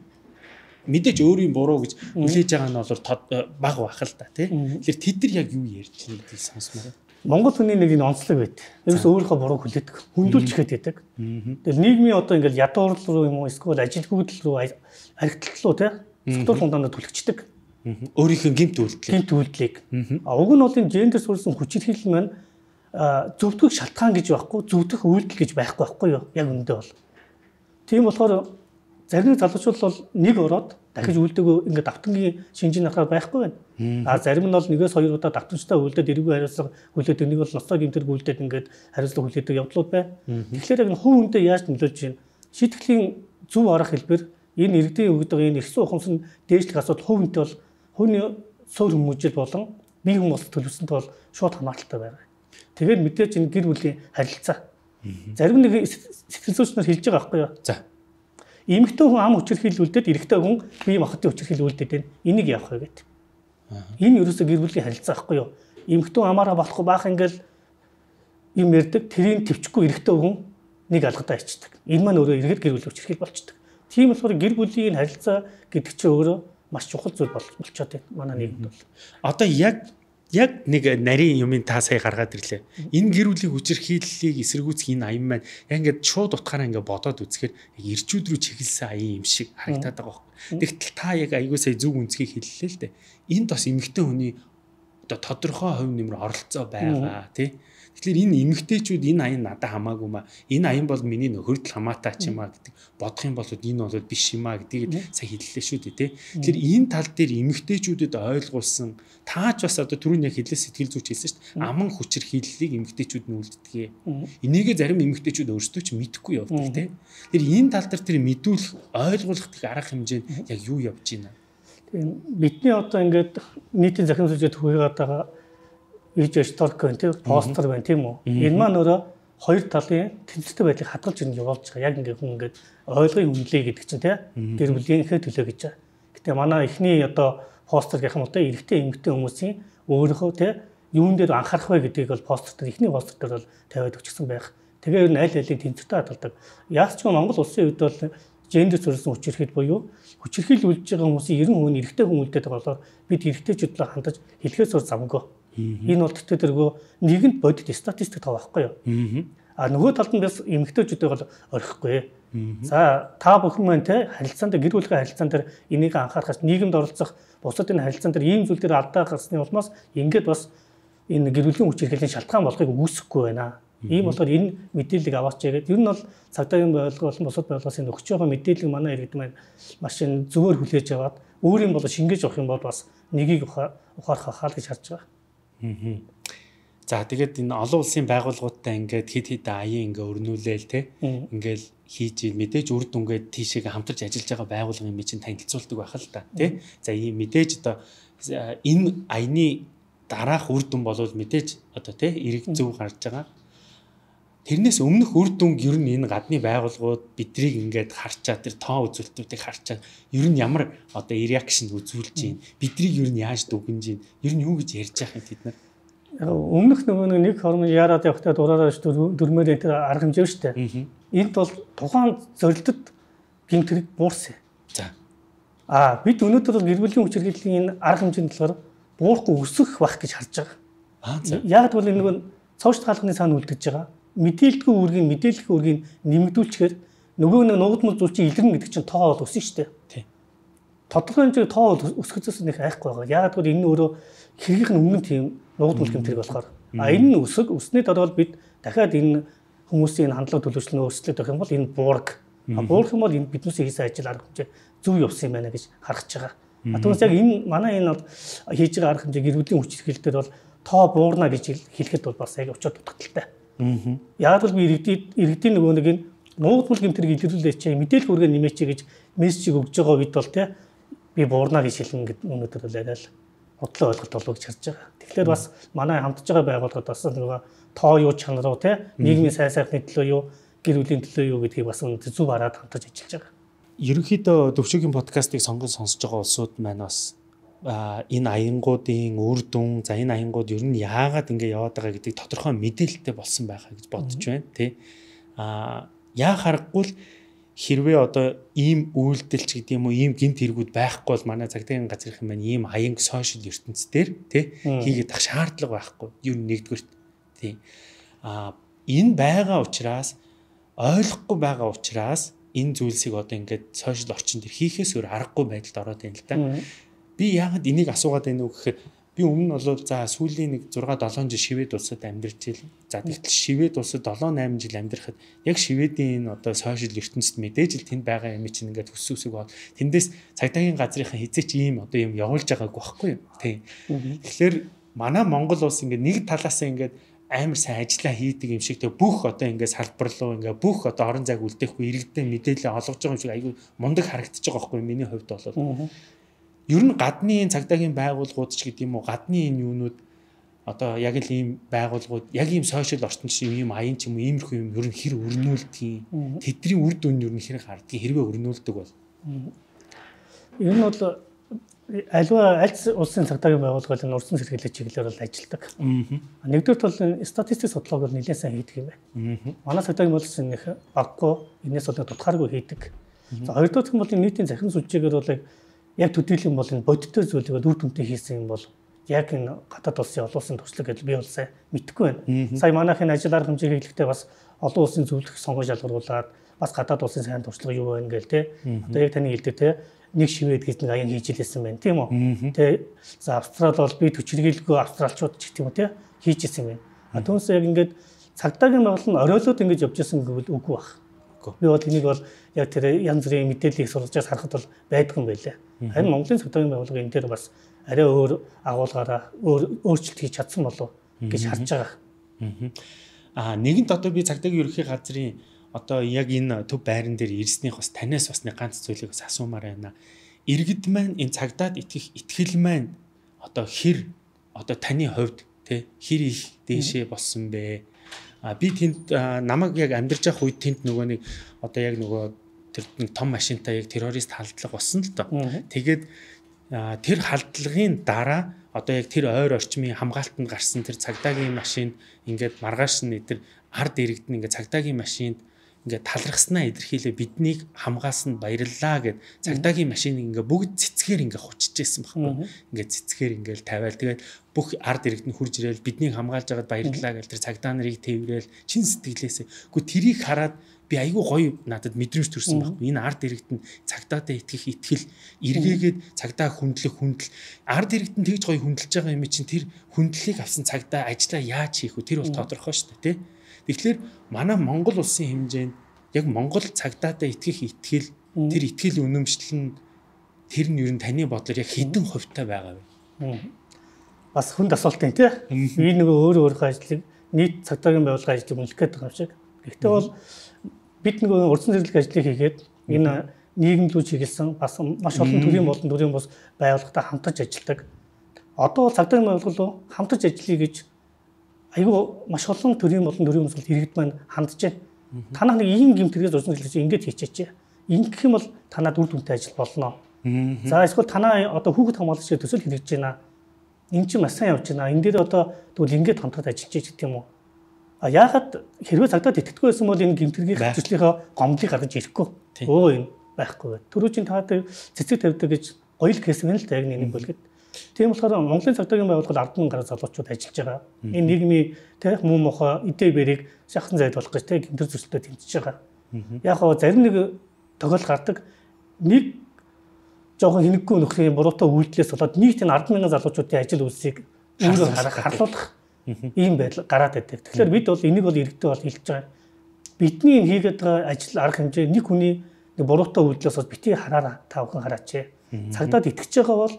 мэдээж өөрийн буруу гэж хүлээж байгаа нь бол баг байх л да тий. Тэгэхээр тэд нар яг юу ярьж байгаа гэдгийг сонсмоор. Монгол хүний нэг энэ онцлог байт. Ерөөс өөрийнхөө буруу хүлээдэг. Хүндүүлж ихэд байдаг. Тэгэл нийгмийн одоо ингээл ядуурл руу юм уу эсвэл ажилгүйдэл рүү архитект руу тий. Согтуур хундаанд түлхчихдэг. Өөрийнхөө гэмт үйлдэл. Гэмт үйлдлийг. А уг нь бол энэ гендер суурьсан хүчирхийлэл маань зөвтгөх шалтгаан гэж байхгүй, зөвтгөх үйлдэл гэж байхгүй байхгүй юу? Яг үүндээ бол. Тийм болохоор зарим залуучууд бол нэг ороод дахиж үйлдэгөө ингээд давтангийн шинжийн ахаар байхгүй байна. А зарим нь бол нэгээс хоёр удаа давтамжтай үйлдээд эрүүгийн хариуцлага хүлээдэг, нэг бол ноцтой гэмтэр үйлдээд ингээд хариуцлага хүлээдэг явдлууд байна. Тэгэхээр яг нь хувь хүндээ яаж нөлөөлж байна? Шийтгэлийн зөв арга хэлбэр энэ иргэдийн өгдөг энэ ихсэн ухамсар дээшлэх асуудал хувь хүнтэй бол хүний суур хүмүүжил болон бие хүмүүс төлөвсөнд бол шууд хамааралтай байна. Тэгээд мэдээж энэ гэр бүлийн харилцаа. Зарим нэг сэтгэл зүйч нар хэлж байгаа байхгүй юу? За. Эмэгтэй хүн ам хүчирхийлэл үлдээд эрэгтэй хүн бие махбодын хүчирхийлэл үлдээд байна. Энийг яах вэ гэдэг. Энэ ерөөсөө гэр бүлийн харилцаа байхгүй юу? Эмэгтэй амаараа болохгүй баах ингээл юм ярддаг. Тэрийг төвчгүй эрэгтэй хүн нэг алгадаа ичдэг. Энэ маань өөрөө эргээд гэр бүлийн хүчирхийлэл болчдөг. Тийм болохоор гэр бүлийн харилцаа гэдэг чинь өөрөө маш чухал зүйл болчиход байна манай нийгэмд бол. Одоо яг яг нэг нарийн юмын та сая гаргаад ирлээ. Энэ гэр бүлийн хүчирхийллийг эсэргүүцэх энэ аян маань яг ингээд шууд утгаараа ингээд бодоод үзэхээр яг ирчүүд рүү чиглэсэн аян юм шиг харагдаад байгаа байхгүй. Тэгтэл та яг айгуу сая зөв үнцгийг хэллээ л дээ. Энд бас эмэгтэй хүний одоо тодорхой хувь нэмэр оролцоо байгаа тий. Тэгэхээр энэ эмэгтэйчүүд энэ аян надад хамаагүй маа. Энэ аян бол миний нөхөрдөл хамаатай ч юм аа гэдэг бодох юм бол энэ бол биш юм аа гэдгийг сая хэллээ шүү дээ тий. Тэгэхээр энэ тал дээр эмэгтэйчүүдэд ойлгуулсан таач бас одоо түрүүний яг хэлээ сэтгэл зүйч хэлсэн шүү дээ. Аман хүчирхийллийг эмэгтэйчүүд нь үлддэг. Энийгээ зарим эмэгтэйчүүд өөрсдөө ч мэдэхгүй явдаг тий. Тэгэхээр энэ тал дээр тэр мэдүүлэх ойлгуулах гэх арга хэмжээ нь яг юу явж байна? Тэгээ бидний одоо ингээд нийтийн захирам сүлжээ төвөөгөөд байгаа иж историк байна тийм постэр байна тийм үү. Энэ маань өөрөө хоёр талын тэнцвэртэй байдлыг хадгалж ирнэ явуулж байгаа. Яг ингээд хүн ингээд ойлгын хүнлээ гэдэг чинь тийм гэр бүлийнхээ төлөө гэж. Гэтэ манай эхний одоо постэр гэх юм уу тийм эрэгтэй эмэгтэй хүмүүсийн өөрийнхөө тийм юун дээр анхаарах вэ гэдгийг бол постэр дээр эхний постэр дээр бол тавиад өгчихсэн байх. Тэгээ ер нь аль алийг тэнцвэртэй хадгалдаг. Яаж ч Монгол улсын үед бол гендер төрсэн хүчирхийл буюу хүчирхийл үлдэж байгаа хүмүүсийн ерөн хүн эрэгтэй хүн үлдээд байгаа болохоор бид эрэгтэйчүүдэд хандаж хэлхээс өөр замгүй. Энэ бол тэгтээ тэргөө нийгэмд бодит статистик тав байхгүй юу? А нөгөө талд нь бас эмэгтэйчүүдээ бол орхихгүй. За та бүхэн маань те харилцаанд гэр бүлийн харилцаан дээр энийг анхаарахаас нийгэмд оролцох бусад энэ харилцаан дээр ийм зүйл дээр алдаа гарсны улмаас ингээд бас энэ гэр бүлийн хүчирхийллийн шалтгаан болохыг үүсэхгүй байна. Ийм болохоор энэ мэдээллийг аваач гэдэг. Ер нь бол цагдаагийн байгууллага болон бусад байгууллагаас энэ өгч байгаа мэдээллийг манай иргэд маань маш зөвөр хүлээж аваад өөрийн бол шингээж авах юм бол бас нэгийг ухаарах хаа гэж харж байгаа. Аа. За тэгээд энэ олон улсын байгууллагуудтай ингээд хид хид аян ингээ өрнүүлээл те ингээл хийж мэдээж үр дүнгээд тийшээ хамтарч ажиллаж байгаа байгууллагын юм чинь танилцуулдаг байх л та тий. За ийм мэдээж одоо энэ аяны дараах үр дүн болвол мэдээж одоо тий эрэг зөв гарч байгаа. Тэрнээс өмнөх үр дүн ер нь энэ гадны байгууллагууд бидрийг ингээд харчаад тэр тоо үзүүлэлтүүдийг харчаад ер нь ямар одоо реакшн үзүүлж байна. Бидрийг ер нь яаж дүгнэж байна. Ер нь юу гэж ярьж байгаа юм тэд нар. Өмнөх нөгөө нэг хормон яарад явахдаа дураараа дөрмөр энэ арга хэмжээ шүү дээ. Энд бол тухайн зорилтод гэмт хэрэг буурсан. За. Аа бид өнөөдөр бол гэр бүлийн хүчирхийллийн энэ арга хэмжээнд болохоор буурахгүй өсөх байх гэж харж байгаа. Аа за. Яг бол энэ нөгөө цоочт хаалганы цаана үлдэж байгаа. Мэдээлэлгүй үргийн мэдээлэх үргийг нэмэгдүүлчихээр нөгөө нэг нуугдмал зүйл чинь илэрнэ гэдэг чинь тоо бол өснө шүү дээ. Тий. Тодорхой хэмжээгээр тоо өсгөхөөс нэг айхгүй байгаа. Яг л энэ өөрөө хэргийнх нь өмнө тийм нуугдмал гэмтрэг болохоор. А энэ нь өсөг өснөний дараа бол бид дахиад энэ хүмүүсийн хандлага төлөвчлөлөө өөрчлөлт өгөх юм бол энэ буурах. А буурах юм бол энэ биднээс хийсэн ажил арга хэмжээ зөв явсан юм байна гэж харж байгаа. А түүнээс яг энэ манай энэ бол хийж байгаа арга хэмжээ гэр бүлийн хүчирхийлэл дээр бол тоо буурна гэж хэлэхэд бол бас яг очиод дутагдaltaй. Яг л би иргэдийн иргэдийн нөгөө нэг энэ нуугдмал гэмтрийг илэрүүлээч чи мэдээлэл хүргээ нэмээч гэж мессежийг өгж байгаа үед бол те би буурна гэж хэлнэ гэдэг өнөөдөр бол арай л бодлоо ойлголт болов гэж харж байгаа. Тэгэхээр бас манай хамтж байгаа байгууллагад бас нөгөө тоо юу чанар уу те нийгмийн сайн сайхны төлөө юу гэр бүлийн төлөө юу гэдгийг бас зөв хараад хамтаж ажиллаж байгаа. Ерөнхийдөө Төвшөөгийн подкастыг сонгон сонсож байгаа улсууд маань бас энэ аянгуудын үр дүн за энэ аянгууд ер нь яагаад ингэ яваад байгаа гэдгийг тодорхой мэдээлэлтэй болсон байхаа гэж бодож байна тий. А яа харахгүй л хэрвээ одоо ийм үйлдэлч гэдэг юм уу ийм гинт хэрэгүүд байхгүй бол манай цагдаагийн газрын маань ийм аянг сошиал ертөнцийн дээр тий хийгээд ах шаардлага байхгүй. Ер нь нэгдүгээр тий. А энэ байгаа учраас ойлгохгүй байгаа учраас энэ зүйлсийг одоо ингээд сошиал орчин дээр хийхээс өөр аргагүй байдалд ороод байна л да. Би яагаад энийг асуугаад байна вэ гэхээр би өмнө нь бол за сүүлийн нэг зурга долоон жил Швед улсад амьдарч ийл. За тэгтэл Швед улсад долоон найман жил амьдрахад яг Шведийн энэ одоо сошиал ертөнцид мэдээж л тэнд байгаа юм чинь ингээд өс өсөг бод. Тэндээс цагдаагийн газрынхаа хизээч ийм одоо юм явуулж байгааг байхгүй юу? Тийм. Тэгэхээр манай Монгол улс ингээд нэг талаас ингээд амар сайн ажиллаа хийдэг юм шиг тэг бүх одоо ингээд салбар руу ингээд бүх одоо орон зайг үлдээхгүй иргэдэд мэдээлэл олгож байгаа юм шиг айгүй мундаг харагдаж байгаа байхгүй юу? Миний хувьд бол ер нь гадны цагдаагийн байгууллагууд ч гэдэг юм уу гадны энэ юунууд одоо яг л ийм байгууллагууд яг ийм сошиал орчинд шиг ийм аян ч юм уу иймэрхүү юм ер нь хэр өрнүүлдэг тэдний үр дүн ер нь хэр хардгийг хэрвээ өрнүүлдэг бол ер нь бол альва аль улсын цагдаагийн байгууллага нь урьдчилан сэргийлэх чиглэлээр бол ажилладаг. Нэгдүгээр бол статистик судалгааг бол нэлээд сайн хийдэг юм байна. Манай цагдаагийн байгууллагын нэг баггүй энэс бол тодорхойгүй хийдэг. За хоёрдугаар нь бол нийтийн захирам сүлжээгээр бол яг төдийлөн бол энэ бодиттой зүйлийг үр дүнтэй хийсэн юм бол яг энэ гадаад улсын олон улсын туршлага гэж би бол сайн мэдэхгүй байна. Сая манайхын ажил арга хэмжээ хийхдээ бас олон улсын зөвлөх сонгон шалгаруулад бас гадаад улсын сайн туршлага юу байна гээл те. Одоо яг таны хэлдэг те нэг шивэд гэж нэг аян хийж илсэн байна тийм үү. Тэ за Австрал бол би төчргийлгүй австралчууд ч гэх юм уу те хийж исэн байна. А түүнээс яг ингээд цагдаагийн байгууллага нь оройлоод ингэж явж исэн гэвэл үгүй баг. Би бол энийг бол яг тэр янз бүрийн мэдээллийг сургажаас харахад бол байдгүй юм байлаа. Харин Монголын цагдаагийн байгууллага энэ дээр бас арай өөр агуулгаараа өөр өөрчлөлт хийж чадсан болов гэж харж байгаа. Аа нэгэнт одоо би цагдаагийн ерөнхий газрын одоо яг энэ төв байран дээр ирснийх бас танаас бас нэг ганц зүйлийг бас асуумаар байна. Иргэд маань энэ цагдаад итгэх итгэл маань одоо хэр одоо таны хувьд тэ хэр их дээшээ болсон бэ? А би тэнд намайг яг амьдарч явах үед тэнд нөгөө нэг одоо яг нөгөө тэр нэг том машинтай яг террорист халдлага болсон л доо. Тэгээд тэр халдлагын дараа одоо яг тэр ойр орчмын хамгаалтанд гарсан тэр цагдаагийн машинд ингээд маргааш нь тэр ард иргэдэн ингээд цагдаагийн машинд ингээд талархснаа илэрхийлээ биднийг хамгаалсанд баярлалаа гэд цагдаагийн машиныг ингээд бүгд цэцгээр ингээд хуччихсан байхгүй. Ингээд цэцгээр ингээд тавиал тэгээд бүх ард иргэд нь хурж ирээл биднийг хамгаалж байгаад баярлалаа гэж тэр цагдаа нарыг тээврээл чин сэтгэлээсээ. Гэхдээ тэрийг хараад би айгүй гоё надад мэдрэмж төрсэн байхгүй. Энэ ард иргэд нь цагдаатай итгэх итгэл эргээгээд цагдаа хүндлэх хүндэл ард иргэд нь тэгж гоё хүндэлж байгаа юм чинь тэр хүндлэлийг авсан цагдаа ажлаа яаж хийх вэ? Тэр бол тодорхой шүү дээ, тий. Тэгэхээр манай Монгол улсын хэмжээнд яг Монгол цагдаатай итгэх итгэл тэр итгэл үнэмшил нь тэр нь ер нь таны бодлоор яг хэдэн хувьтай байгаа вэ? Бас хүнд асуулт юм тий. Би нөгөө өөр өөрийнхөө ажлыг нийт цагдаагийн байгууллагын ажлыг үнэлэх гэдэг юм шиг. Гэхдээ бол бид нөгөө урдсан зэрлэг ажлыг хийгээд энэ нийгэмлүү чиглэсэн бас маш олон төрлийн болон төрлийн бус байгууллагатай хамтарч ажилладаг. Одоо цагдаагийн байгууллага хамтарч ажиллая гэж айгүй маш олон төрлийн болон төрлийн бус иргэд маань хандж байна. Танах нэг ийм гэмтэргээс урдсан зэрлэг ингэж хийчихээ. Ингэх юм бол танад үр дүнтэй ажил болно. За эсвэл танаа одоо хүүхэд хамгаалагч төсөл хэрэгжиж байна. Энд чинь маш сайн явж байна. Энд дээр одоо тэгвэл ингээд хамтраад ажиллаж байгаа юм уу? А яагаад хэрвээ цагдаад итгэдэггүй байсан бол энэ гэмтэргийн хэвчлэлийнхаа гомдлыг гаргаж ирэхгүй. Өө юм байхгүй. Түрүүчийн та цэцэг тавьдаг гэж гоё л кейс байна л да яг нэг bo'lгээд. Тийм болохоор Монголын цагдаагийн байгууллага ард гараа залуучууд ажиллаж байгаа. Энэ нийгмийн тэ муу мохоо идэ бэрийг шахсан зайд болох гэж тэ гэмтэр зөрчилдөд тэмцэж байгаа. Яг хоо зарим нэг тохиол гардаг нэг жоохон хинэггүй нөхрийн буруутай үйлдэлээс болоод нийт энэ ард мянган залуучуудын ажил үйлсийг өөрөө харах харлуулах ийм байдал гараад байдаг. Тэгэхээр бид бол энийг бол иргэдэд бол хэлж байгаа. Бидний хийгээд байгаа ажил арга хэмжээ нэг хүний нэг буруутай үйлдэлээс бол бити хараараа та бүхэн хараач. Цагдаад итгэж байгаа бол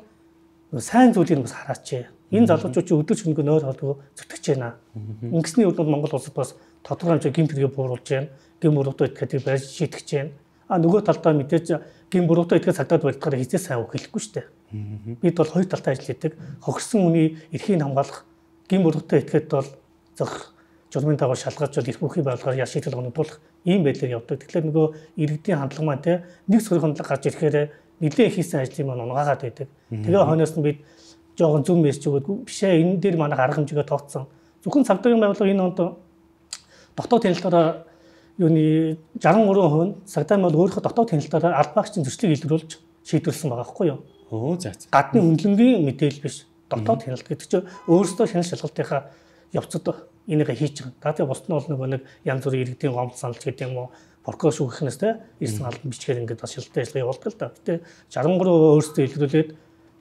сайн зүйлийг бас хараач. Энэ залуучууд чи өдөр шөнөгүй нойр холбоо зүтгэж байна. Ингэсний үед бол Монгол улсад бас тодорхой хэмжээ гэмт хэрэг бууруулж байна. Гэм буруутай итгэдэг байж шийтгэж байна. А нөгөө талдаа мэдээж гэм буруутай итгэж цагдаад барьдахаар хизээ сайн үг хэлэхгүй шүү дээ. Бид бол хоёр талтай ажил хийдэг. Хохирсон хүний эрхийг хамгаалах гэм буруутай итгэхэд бол зөх журмын дагуу шалгаж бол эрх бүхий байгууллагаар ял шийдэл гоногдуулах ийм байдлаар явдаг. Тэгэхээр нөгөө иргэдийн хандлага маань те нэг сөрөг хандлага гарч ирэхээр нэлээд хийсэн ажлыг маань унгаагаад байдаг. Тэгээ хойноос нь бид жоохон зүм мессеж өгөөд бишээ энэ дээр манайх арга хэмжээгээ тооцсон. Зөвхөн цагдаагийн байгууллага энэ онд дотоод танилцаараа юуны шестдесет три хувь цагдаа бол өөрийнхөө дотоод танилцаараа аль багчийн зөрчлийг илрүүлж шийдвэрлсэн байгаа байхгүй юу? Оо за. Гадны хөндлөнгийн мэдээлэл биш. Дотоод таналт гэдэг чинь өөрөөсөө шанал шалгалтынхаа явцад энийг хийж байгаа. Даатыг бусд нь бол нөгөө нэг янз бүрийн иргэдийн гомд саналч гэдэг юм уу, прокурор шүүхнээс те ирсэн албан бичгээр ингээд бас шилдэг ажиллагаа явуулдаг л да. Гэтэ шестдесет три өөрөөсөө илрүүлээд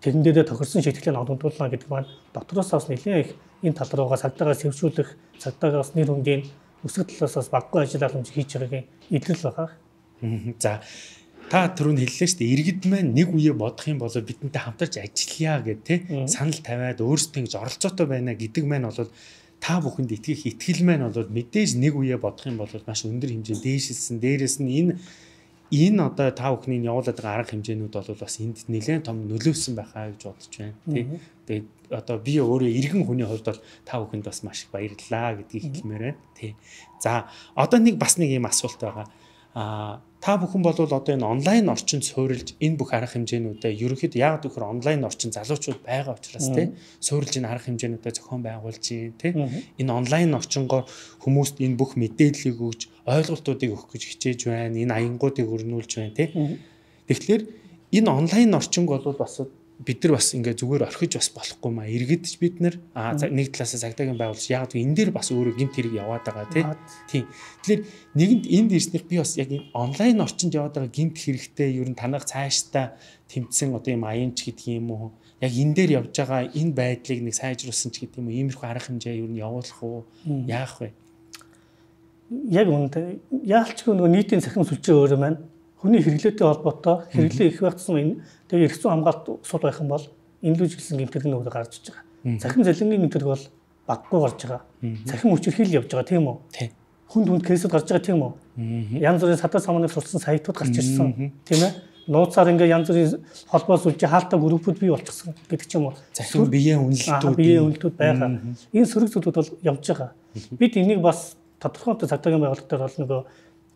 тэрэн дээрээ тохирсон шийдвэрлэлийг нодогдуулна гэдэг маань дотроос бас нэлээд их энэ тал руугаа цагдаагаа сэвшүүлэх, цагдаагаас нэр хүндийн өсгөх талаас бас баггүй ажил арга хэмжээ хийж байгаагийн илрэл байгаа. За та түрүүн хэллээ шүү дээ. Иргэд маань нэг үе бодох юм бол бидэнтэй хамтарч ажиллая гэх те санал тавиад өөрсдөө ингэж оролцоотой байна гэдэг маань бол та бүхэнд итгэх итгэл маань бол мэдээж нэг үе бодох юм бол маш өндөр хэмжээнд дээшилсэн. Дээрээс нь энэ энэ одоо та бүхний явуулаад байгаа арга хэмжээнүүд бол бас энд нэлээд том нөлөөсөн байхаа гэж бодож байна. Тий. Тэгээд одоо би өөрөө иргэн хүний хувьд бол та бүхэнд бас маш их баярлалаа гэдгийг хэлмээр байна. Тий. За одоо нэг бас нэг юм асуулт байгаа. Аа та бүхэн бол одоо энэ онлайн орчинд суурилж энэ бүх арга хэмжээнүүдээ ерөнхийдөө яг тэгэхээр онлайн орчин залуучууд байгаа учраас тий суурилж энэ арга хэмжээнүүдээ зохион байгуулж тий энэ онлайн орчингоор хүмүүст энэ бүх мэдээллийг өгж ойлголтуудыг өгөх гэж хичээж байна. Энэ аянгуудыг өрнүүлж байна тий. Тэгэхээр энэ онлайн орчинг бол бас бид нар бас ингээ зүгээр орхиж бас болохгүй маа. Иргэдч бид нар нэг талаас цагдаагийн байгуулж яг энэ дээр бас өөрөө гинт хэрэг яваад байгаа тийм. Тэгэхээр нэгэнд энд ирснээр би бас яг энэ онлайн орчинд яваад байгаа гинт хэрэгтэй ер нь танах цаашдаа тэмцсэн одоо юм аянч гэдэг юм уу? Яг энэ дээр явж байгаа энэ байдлыг нэг сайжруулсан ч гэдэг юм уу? Иймэрхүү арга хэмжээ ер нь явуулах уу? Яах вэ? Яг үнэндээ яалчгүй нөгөө нийтийн цахим сүлжээ өөрөө маань хүний хэрэглээтэй холбоотой хэрэглээ их багтсан энэ тэгээ эрх зүйн хамгаалалт сул байх юм бол энэ лүү жилсэн гэмтэрэг нь өөрөө гарч иж байгаа. Цахим залингийн гэмтэрэг бол баггүй гарч байгаа. Цахим хүчирхийл явж байгаа тийм үү? Хүнд хүнд кейсүүд гарч байгаа тийм үү? Янз бүрийн садаа самныг сурсан сайтууд гарч ирсэн тийм ээ? Нууцаар ингээ янз бүрийн холбоо сүлжээ хаалтаа группүүд бий болчихсон гэдэг ч юм уу. Захин биеийн үнэлтүүд биеийн үнэлтүүд байгаа. Энэ сөрөг зүйлүүд бол явж байгаа. Бид энийг бас тодорхой цагдаагийн байгууллагатаар бол нөгөө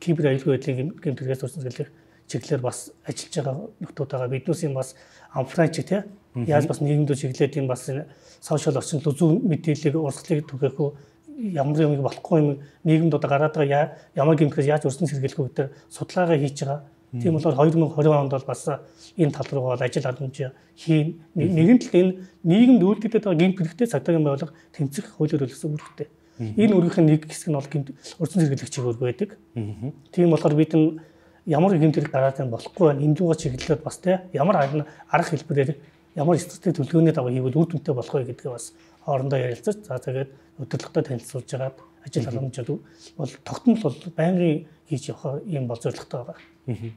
кибер аюулгүй байдлын гэмтэргээс урьдчилан зэрлэх чиглэлээр бас ажиллаж байгаа нөтүүд байгаа. Биднээс юм бас амфранч тий яаж бас нийгэмд чиглэлээд юм бас сошиал орчинд зүүн мэдээллийг урсгалыг түгээх үү ямар юм болохгүй юм нийгэмд одоо гараад байгаа ямар гэмтэргээс яаж урьдчилан сэргийлэх үү гэдэг судалгаагаа хийж байгаа. Тийм болохоор хоёр мың и двадцать онд бол бас энэ тал руу бол ажил хадгаламж хийн. Нэгэн тал энэ нийгэмд үйлдвэрлэдэг байгаа гэмтэрэгтэй цагдаагийн байгууллага тэмцэх хуулиар төлөвлөсөн үүрэгтэй. Энэ үүргийн нэг хэсэг нь бол урьдчилан сэргийлэх чиглэл байдаг. Тийм болохоор бид нь ямар гэмтэрэг гараад юм болохгүй байна. Энэ дууга чиглэлээр бас тий ямар арга хэлбэрээр ямар стратеги төлөвлөгөөний дагуу хийвэл үр дүнтэй болох вэ гэдгээ бас хоорондоо ярилцаж за тэгээд өдөрлөгтөө танилцуулж агаад ажил халамжууд бол тогтмол бол байнгын хийж явах юм бол зорилготой байгаа.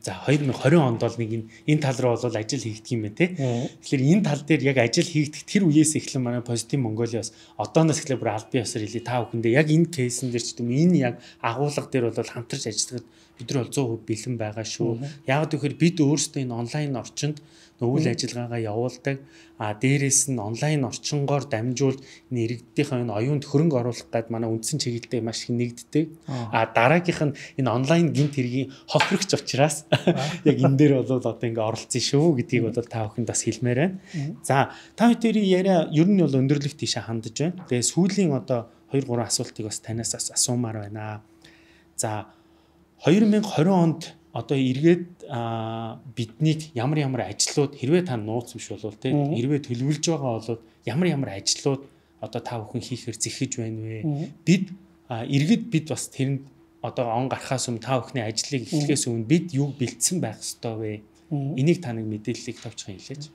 За хоёр мың и двадцать онд бол нэг энэ тал руу бол ажил хийгдэх юм байна тий. Тэгэхээр энэ тал дээр яг ажил хийгдэх тэр үеэс эхлэн манай Positive Mongolia-с одооноос эхлээ бүр аль бие ёсоор хэлээ та бүхэндээ яг энэ кейсэн дээр ч гэдэм энэ яг агуулга дээр бол хамтарч ажиллахад бид нар бол сто процент бэлэн байгаа шүү. Яг тэгэхээр бид өөрсдөө энэ онлайн орчинд үйл ажиллагаагаа явуулдаг. А дээрээс нь онлайн орчингоор дамжуулж энэ иргэдийнхээ энэ оюунд хөрөнгө оруулах гээд манай үндсэн чиглэлтэй маш их нэгддэг. А дараагийнх нь энэ онлайн гинт хэргийн хохирогч учраас яг энэ дээр бол одоо ингээ оролцсон шүү гэдгийг бол та бүхэнд бас хэлмээр байна. За та бүхэн яриа ер нь бол өндөрлөх тийшээ хандаж байна. Тэгээ сүүлийн одоо хоёр гурван асуултыг бас танаас бас асуумаар байна. За хоёр мың и двадцать онд одоо эргээд биднийг ямар ямар ажлууд хэрвээ та нууц биш болвол те хэрвээ төлөвлөж байгаа бол ямар ямар ажлууд одоо та бүхэн хийхээр зэхэж байна вэ? Бид эргээд бид бас тэрэнд одоо он гарахаас өмнө та бүхний ажлыг эхлэхээс өмнө бид юу бэлдсэн байх ёстой вэ? Энийг та нэг мэдээллийг товчхон хэлээч.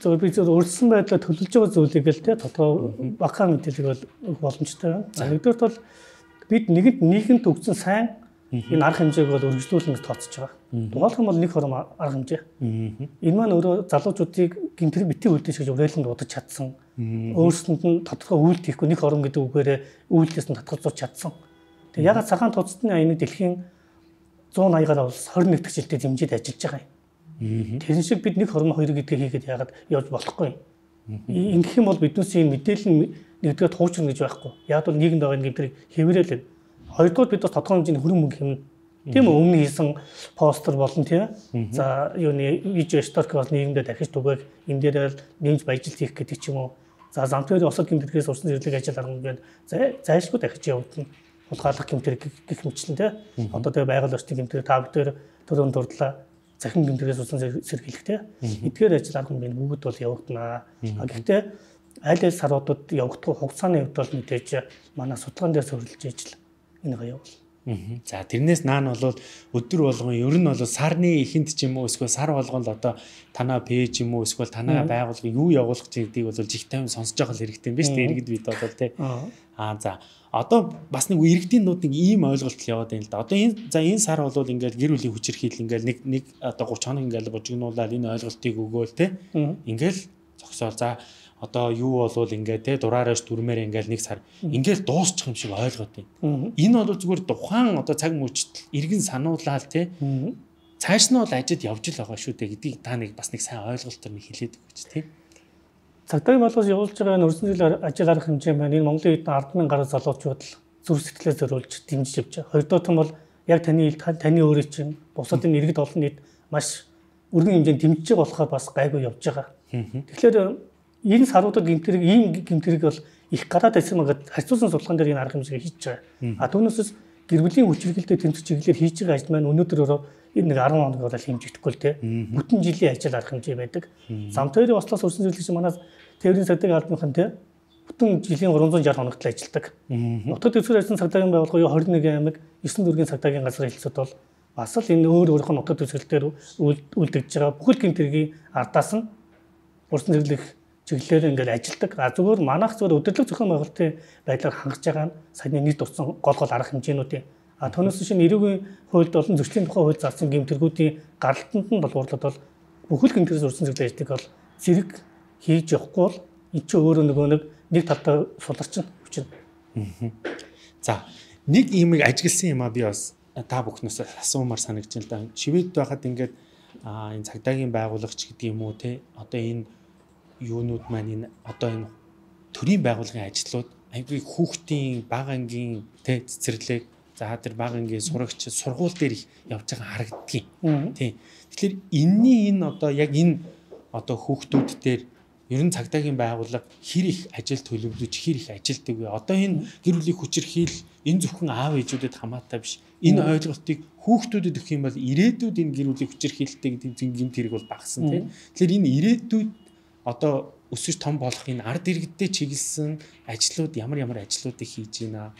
зөв би зөв өөрчлөсөн байдлаар төлөвлөж байгаа зүйлийг л те тодорхой багахан мэдээлэл бол өгөх боломжтой байна. Нэгдүгээрт бол бид нэгэнд нийгэмд өгсөн сайн энэ арга хэмжээг бол үргэлжлүүлэн тооцож байгаа. Дугаалх юм бол нэг хором арга хэмжээ. Энэ маань өөрөө залуучуудыг гэмтрэг битгий үлдээж гэж уриалганд удаж чадсан. Өөрсдөнд нь тодорхой үйлдэл хийхгүй нэг хором гэдэг үгээрээ үйлдэлээс нь татгалзууч чадсан. Тэгээ ягаад цагаан тооцтны аяны дэлхийн зуун аягаар бол хорин нэг дахь жилдээ дэмжиж ажиллаж байгаа юм. Тэр шиг бид нэг хором хоёр гэдгийг хийгээд ягаад явж болохгүй юм. Ингэх юм бол биднээс энэ мэдээлэл нь нэгдүгээр хуучрна гэж байхгүй. Яг бол нийгэмд байгаа гэмтрэг хэврээл байна. Хоёрдугаар бид бас тодорхой хэмжээний хөрөнгө мөнгө хэмнэ. Тийм үү өмнө хийсэн постэр болон тийм. За юуны видео сторк бол нийгэмдээ дахиж түгээх энэ дээр нэмж баяжилт хийх гэдэг ч юм уу. За замтны осол гэмтрэгээс урсан зэрлэг ажил аргамжууд зайлшгүй дахиж явагдана. Хулгайлах гэмтрэг гэх мэтлэн тийм. Одоо тэгээ байгаль орчны гэмтрэг та бүдээр төрөнд дурдлаа. Захин гэмтрэгээс урсан сэргийлэх тийм. Эдгээр ажил аргамжууд бүгд бол явагдана. Гэхдээ аль аль саруудад явагдах хугацааны хувьд бол мэдээж манай судалгаан дээр суурилж ижил энэ гоё явуул. За тэрнээс наан бол өдөр болгон ер нь бол сарны эхэнд ч юм уу эсвэл сар болгонд одоо танаа пэйж юм уу эсвэл танаа байгууллага юу явуулах гэдгийг бол жиг тайван сонсож байгаа хэрэгтэй юм биш үү? Иргэд бид бол тий. Аа за одоо бас нэг иргэдийнүүд нэг ийм ойлголт яваад байна л да. Одоо энэ за энэ сар бол ингээл гэр бүлийн хүчирхийл ингээл нэг нэг одоо гуравч хоног ингээл бужигнуулаад энэ ойлголтыг өгөөл тий. Ингээл зогсоол за одоо юу болвол ингээд те дураараш дүрмээр ингээд нэг сар ингээд дуусчих юм шиг ойлгоод байна. Энэ бол зүгээр тухайн одоо цаг мөчтөл иргэн сануулаад те цааш нь бол ажид явж л байгаа шүү дээ гэдгийг та нэг бас нэг сайн ойлголтоор нэг хэлээд өгөөч те. Цагдаагийн байгууллагаас явуулж байгаа энэ өрсөн жилийн ажил арга хэмжээ маань энэ Монголын хэд ард мянган гаруй залуучууд л зүрх сэтгэлээ зориулж дэмжиж явж байгаа. Хоёрдугаар нь бол яг таны таны өөрийн чинь бусад энэ иргэд олон нийт маш өргөн хэмжээнд дэмжиж байгаа болохоор бас гайгүй явж байгаа. Тэгэхээр энэ саруудад гэмтрэг ийм гэмтрэг бол их гараад байсан мэгэд харьцуулсан судалгаан дээр энэ арга хэмжээг хийж байгаа. А түүнээс гэр бүлийн хүчирхийлэлтэй тэмцэх чиглэлээр хийж байгаа ажил маань өнөөдөр энэ нэг арван хоног бол хэмжигдэхгүй л те. Бүтэн жилийн ажил арга хэмжээ байдаг. Зам тээврийн ослоос өрсөн зэрлэгч манай тээврийн цагдаагийн албаныхан те бүтэн жилийн гурван зуун шалгалт хоногт ажилладаг. Нутаг дэвсгэр ажлын цагдаагийн байгууллага юу хорин нэгэн аймаг есөн дүүргийн цагдаагийн газар хэлцүүд бол бас л энэ өөр өөрийнх нь нутаг дэвсгэр дээр үлдэгдэж байгаа бүхэл гэмт хэргийн ардаас нь урсан зэрлэх чиглэлээр ингээд ажилдаг. А зүгээр манайх зүгээр өдөрлөг зохион байгуулалтын байдлаар хангаж байгаа нь саяны нийт утсан гол гол арга хэмжээнүүдийн. А түүнээс чинь эрүүгийн хуульд болон зөрчлийн тухай хууль заасан гэмтэргүүдийн гаралтанд нь бол уурлаад бол бүхэл гэмтэрээс урсан зэрлэг ажлыг бол зэрэг хийж явахгүй бол энэ чинь өөрөө нөгөө нэг нэг талдаа суларч нь хүчин. За нэг юм ажигласан юм а би бас та бүхнээс асуумаар санагдаж байна л да. Шивэд байхад ингээд энэ цагдаагийн байгуулагч гэдэг юм уу те одоо энэ юунууд маань энэ одоо энэ төрийн байгууллагын ажлууд аягүй хүүхдийн бага ангийн те цэцэрлэг за тэр бага ангийн сурагч сургууль дээр их явж байгаа харагддгийг тийм. Тэгэхээр энэний энэ одоо яг энэ одоо хүүхдүүд дээр ер нь цагдаагийн байгууллага хэр их ажил төлөвлөж хэр их ажилтдаг вэ? Одоо энэ гэр бүлийн хүчирхийл энэ зөвхөн аав ээжүүдэд хамаатай биш. Энэ ойлголтыг хүүхдүүдэд өгөх юм бол ирээдүйд энэ гэр бүлийн хүчирхийлэлтэй гэдэг гэмт хэрэг бол багасна тийм. Тэгэхээр энэ ирээдүйд одоо өсөж том болох энэ ард иргэдтэй чиглэсэн ажлууд ямар ямар ажлуудыг хийж байна.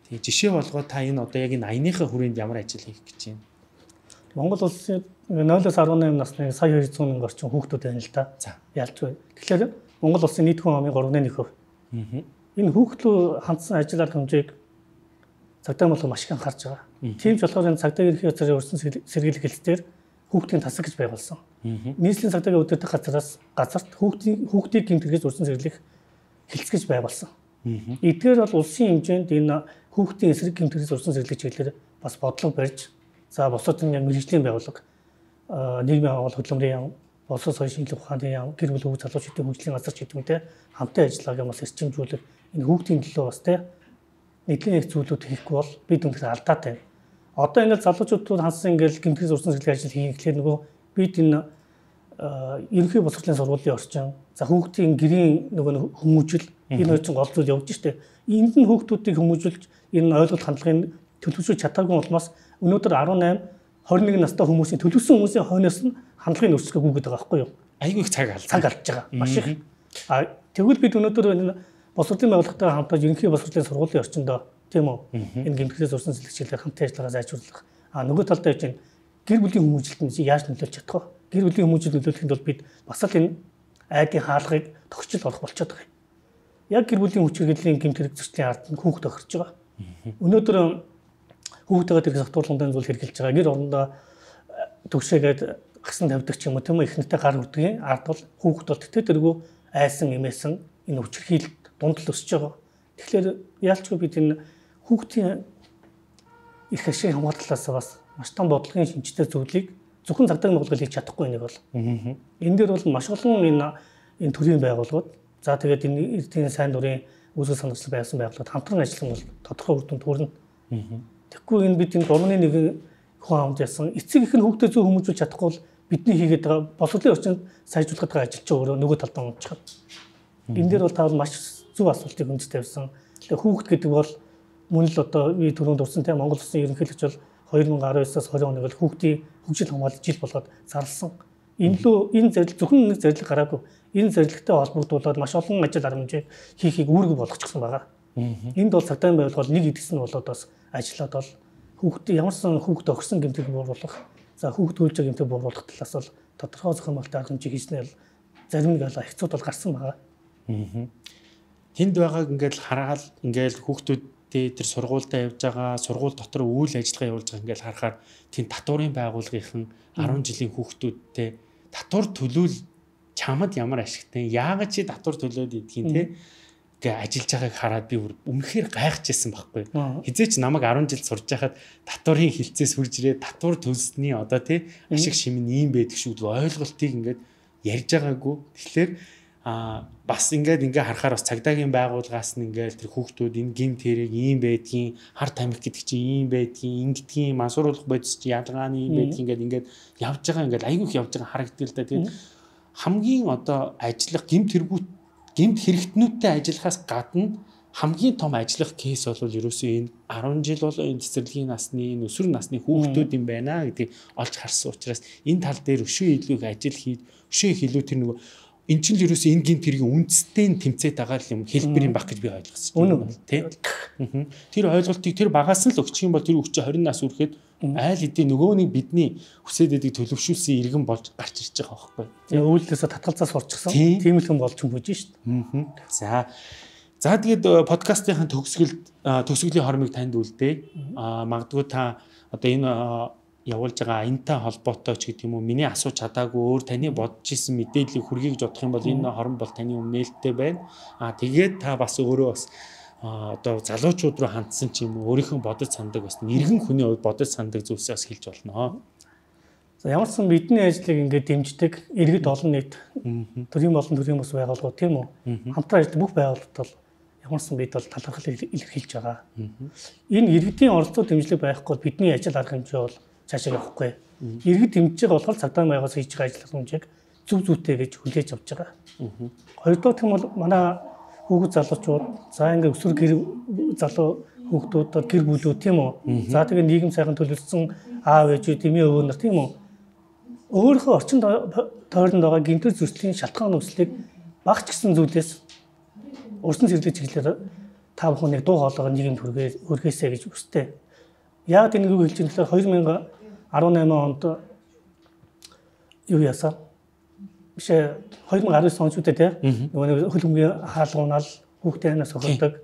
Тэгээ жишээ болгоо та энэ одоо яг энэ аяныхаа хүрээнд ямар ажил хийх гэж байна? Монгол улсын нойлоос арван найман насны сая хоёр зуун мянган орчим хүүхдүүд байна л да. Ялж бай. Тэгэхээр Монгол улсын нийт хүн амын гурван нэг хувь. Энэ хүүхдлөө хандсан ажил арга хэмжээг цагдаа болгоо маш их анхаарч байгаа. Тийм ч болохоор энэ цагдаагийн ерхий газрын өрсөн сэргийлэх хэлцээр хүүхдийн тасаг гэж байгуулсан. Нийслэлийн цагдаагийн удирдах газраас газарт хүүхдийн хүүхдийг гэмтэргээс урьдчилан сэргийлэх хэлц гэж байгуулсан. Эдгээр бол улсын хэмжээнд энэ хүүхдийн эсрэг гэмтэргээс урьдчилан сэргийлэх чиглэлээр бас бодлого барьж за босоод энэ мэргэжлийн байгууллага нийгмийн агуулга хөдөлмөрийн яам, боловсрол соёлын шинжилгээ ухааны яам, гэр бүл хөгжил залуучуудын хөгжлийн газар ч гэдэг мэт хамтын ажиллагааг бас эрчимжүүлэх энэ хүүхдийн төлөө бас те нэгэн их зүйлүүд хийхгүй бол бид үнэхээр алдаатай. Одоо ингээд залуучуудад хансан ингээд гэмтэргээс урьдчилан сэргийлэх ажил хийх гэхлээр нөгөө бид энэ ерөнхий боловсролын сургуулийн орчин за хүүхдийн гэрийн нөгөө хүмүүжил энэ хоёр чинь гол зүйл явж штэ. Энд нь хүүхдүүдийг хүмүүжүүлж энэ ойлголт хандлагын төлөвшүүлж чадаагүй улмаас өнөөдөр арван найман хорин нэг настай хүмүүсийн төлөвсөн хүмүүсийн хойноос нь хандлагын өөрчлөлт гүгээд байгаа байхгүй юу? Айгүй их цаг алдсан. Цаг алдж байгаа. Маш их. А тэгвэл бид өнөөдөр энэ боловсролын байгууллагатай хамтдаа ерөнхий боловсролын сургуулийн орчиндөө тийм үү? Энэ гэмтэргээс урьдчилан сэргийлэх хамтын ажиллагаа зайчруулах. А нөгөө талдаа чинь гэр бүлийн хүмүүжилт нь яаж нөлөөлж чадах вэ? Гэр бүлийн хүмүүжилт нөлөөлөхийн тулд бид бас л энэ айдын хаалгыг тогтчил олох болчиход байгаа юм. Яг гэр бүлийн хүч хэрэглийн гэмтэрэг зөрчлийн ард нь хүүхд тохирч байгаа. Өнөөдөр хүүхдтэйгээ тэрэг сатуулгын зүйл хэрэгжилж байгаа. Гэр орондоо төгшөөгээд гасан тавьдаг ч юм уу тийм үү ихнэртэй гар хүрдгийн ард бол хүүхд бол тэтэ тэргүй айсан эмээсэн энэ хүчирхийлэлд дунд л өсөж байгаа. Тэгэхээр яалчгүй бид энэ хүүхдийн их ашиг хамгаалалаас бас маш том бодлогын шинжтэй зүйлийг зөвхөн цагдаагийн байгууллага хийж чадахгүй нэг бол. Энэ дээр бол маш олон энэ энэ төрлийн байгууллагууд за тэгээд энэ эрдэнэ сайн дурын үүсгэл санамжлал байсан байгууллагууд хамтран ажиллах нь бол тодорхой үр дүнд хүрнэ. Тэгэхгүй энэ бид энэ гурван нэг хүн амд ясан эцэг их нь хүүхдээ зөв хүмүүжүүлж чадахгүй бол бидний хийгээд байгаа боловсролын орчинд сайжруулах байгаа ажил чинь өөрөө нөгөө талдаа унцчихна. Энэ дээр бол та бол маш зөв асуултыг хүнд тавьсан. Тэгэхээр хүүхд гэдэг бол мөн л одоо би түрүүнд дурсан тийм Монгол улсын ерөнхийлөгч бол хоёр мянган аравын оноос двадцать оног бол хүүхдийн хөгжил хамгаалалт жил болгоод зарласан. Энэ лөө энэ зорилго зөвхөн нэг зорилго гараагүй. Энэ зорилготой холбогдуулаад маш олон ажил арга хэмжээ хийхийг үүрэг болгочихсон байгаа. Энд бол цагдаагийн байгууллага нэг эдгэсэн болоод бас ажиллаад бол хүүхдээ ямарсан хүүхд өгсөн гэмтэг бууруулах за хүүхд төлж байгаа гэмтэг бууруулах талаас бол тодорхой зохион байгуулалт арга хэмжээ хийснээр зарим нэг хэцүүд бол гарсан байгаа. Тэнд байгааг ингээд хараад ингээд хүүхдүүд тэр сургуультай явж байгаа сургууль дотор үйл ажиллагаа явуулж байгаа ингээд харахаар тийм татварын байгууллагын арван жилийн хүүхдүүдтэй татвар төлөөл чамд ямар ашигтай яагаад чи татвар төлөөд идэгин те гэ ажиллаж байгааг хараад би үнэхээр гайхажсэн байхгүй хизээч намайг арван жил сурж байхад татварын хилцээс хурж ирээ татвар төлсөний одоо те ашиг шим нь ийм байдаг шүү дээ ойлголтыг ингээд ярьж байгаагүй тэгэхээр а бас ингээд ингээ харахаар бас цагдаагийн байгууллагаас нь ингээд тэр хүүхдүүд энэ гимт хэрэг ийм байдгийн хар тамхи гэдэг чинь ийм байдгийн ингэдгийн мансууруулах бодис чи ялгааны ийм байдгийн ингээд ингээд явж байгаа ингээд айгүйх явж байгаа харагддаг л да тэгээд хамгийн одоо ажиллах гимт хэрэгүүд гимт хэрэгтнүүдтэй ажиллахаас гадна хамгийн том ажиллах кейс бол ерөөсөө энэ арван жил болоо энэ цэцэрлэгийн насны өсвөр насны хүүхдүүд юм байна гэдгийг олж харсан учраас энэ тал дээр өшөө илүү их ажил хийж өшөө их илүү тэр нөгөө эн чинь л ерөөсөө энэ гинт тэргийн үндэстэй тэмцээд байгаа юм хэлбэр юм баг гэж би ойлгосон. Үнэн тий. Тэр ойлголтыг тэр багаас нь л өгчих юм бол тэр хүч двадцать нас хүрэхэд айл хэдийн нөгөөний бидний хүсээд байдаг төлөвшүүлсэн иргэн болж гарч ирж байгаа байхгүй. Тэгээ өвлөөсөө татгалзаа сурчсан. Тийм л юм болж юм бууж шít. За. За тэгээд подкастын төгсгөлд төгсгөлийн хормыг танд үлдээ. Аа магадгүй та одоо энэ явуулж байгаа аянтай холбоотой ч гэдэг юм уу миний асууж чадаагүй өөр таны бодож исэн мэдээллийг хүргэе гэж бодох юм бол энэ хорон бол таны өмнө нээлттэй байна. Аа тэгээд та бас өөрөө бас одоо залуучууд руу хандсан ч юм уу өөрийнхөө бодож сандаг бас нэргэн хүний хувьд бодож сандаг зүйлсээ бас хэлж болно. За ямар ч сан бидний ажлыг ингээд дэмждэг иргэд олон нийт төрийн болон төрийн бас байгууллагууд тийм үү хамтран ажилладаг бүх байгууллагууд бол ямар ч сан бид бол талархал илэрхийлж байгаа. Энэ иргэдийн оролцоо дэмжлэг байхгүй бидний ажил арга хэмжээ бол цаашаа явахгүй. Иргэд дэмжиж байгаа болохоор цагдаа байгаас хийж байгаа ажил хэмжээг зүв зүйтэй гэж хүлээж авч байгаа. Хоёрдугаар юм бол манай хүүхэд залуучууд за ингээд өсвөр гэр залуу хүүхдүүд гэр бүлүүд тийм үү. За тэгээ нийгэм сайхан төлөвлөсөн аав ээжүүд эмээ өвөө нар тийм үү. Өөрийнхөө орчин тойронд байгаа гинтэр зөрчлийн шалтгаан нөхцөлийг багч гэсэн зүйлээс урьдчилан зэрлэг чиглэлээр та бүхэн нэг дуу хоолойгоо нийгэмд хүргээсэй гэж хүсдэг. Яг энэ үг хэлж байгаа хоёр мянга арван найман онд юу яасан? Биш хоёр мянга арван онд ч үгүй те. Нөгөө хөлбөмбөгийн хаалгуунал хүүхдээ ханаас охирдог.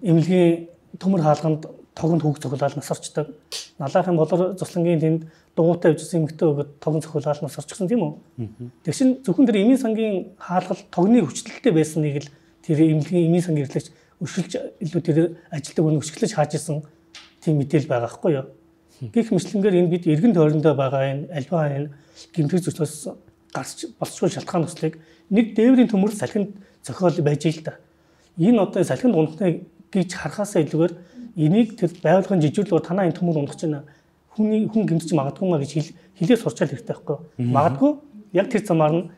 Эмнэлгийн төмөр хаалганд тогонд хүүхд цохилаад насарчдаг. Налаахын болор цуслангийн тэнд дугуйтай авчихсан эмэгтэй өгöd тогон цохилаад насарчихсан тийм үү? Тэгшин зөвхөн тэр эмийн сангийн хаалгал тогны хүчлэлтэй байсныг л тэр эмнэлгийн эмийн сангийн эрхлэгч өшөлж илүү тэр ажилтг өнө өшгөлж хааж исэн тийм мэдээлэл байгаа байхгүй юу? Гэх мэтлэнгээр энэ бид эргэн тойрондоо байгаа энэ альва энэ гэмтэг зөрчилөөс гарч болцгүй шалтгаан төслийг нэг дээврийн төмөр салхинд зохиол байж ил та. Энэ одоо салхинд унахныг гэж харахаасаа илүүгээр энийг тэр байгууллагын жижиглэлөөр танаа энэ төмөр унах чинь хүний хүн гэмтэж магадгүй маа гэж хэлээ сурчаал хэрэгтэй байхгүй юу? Магадгүй яг тэр замаар нь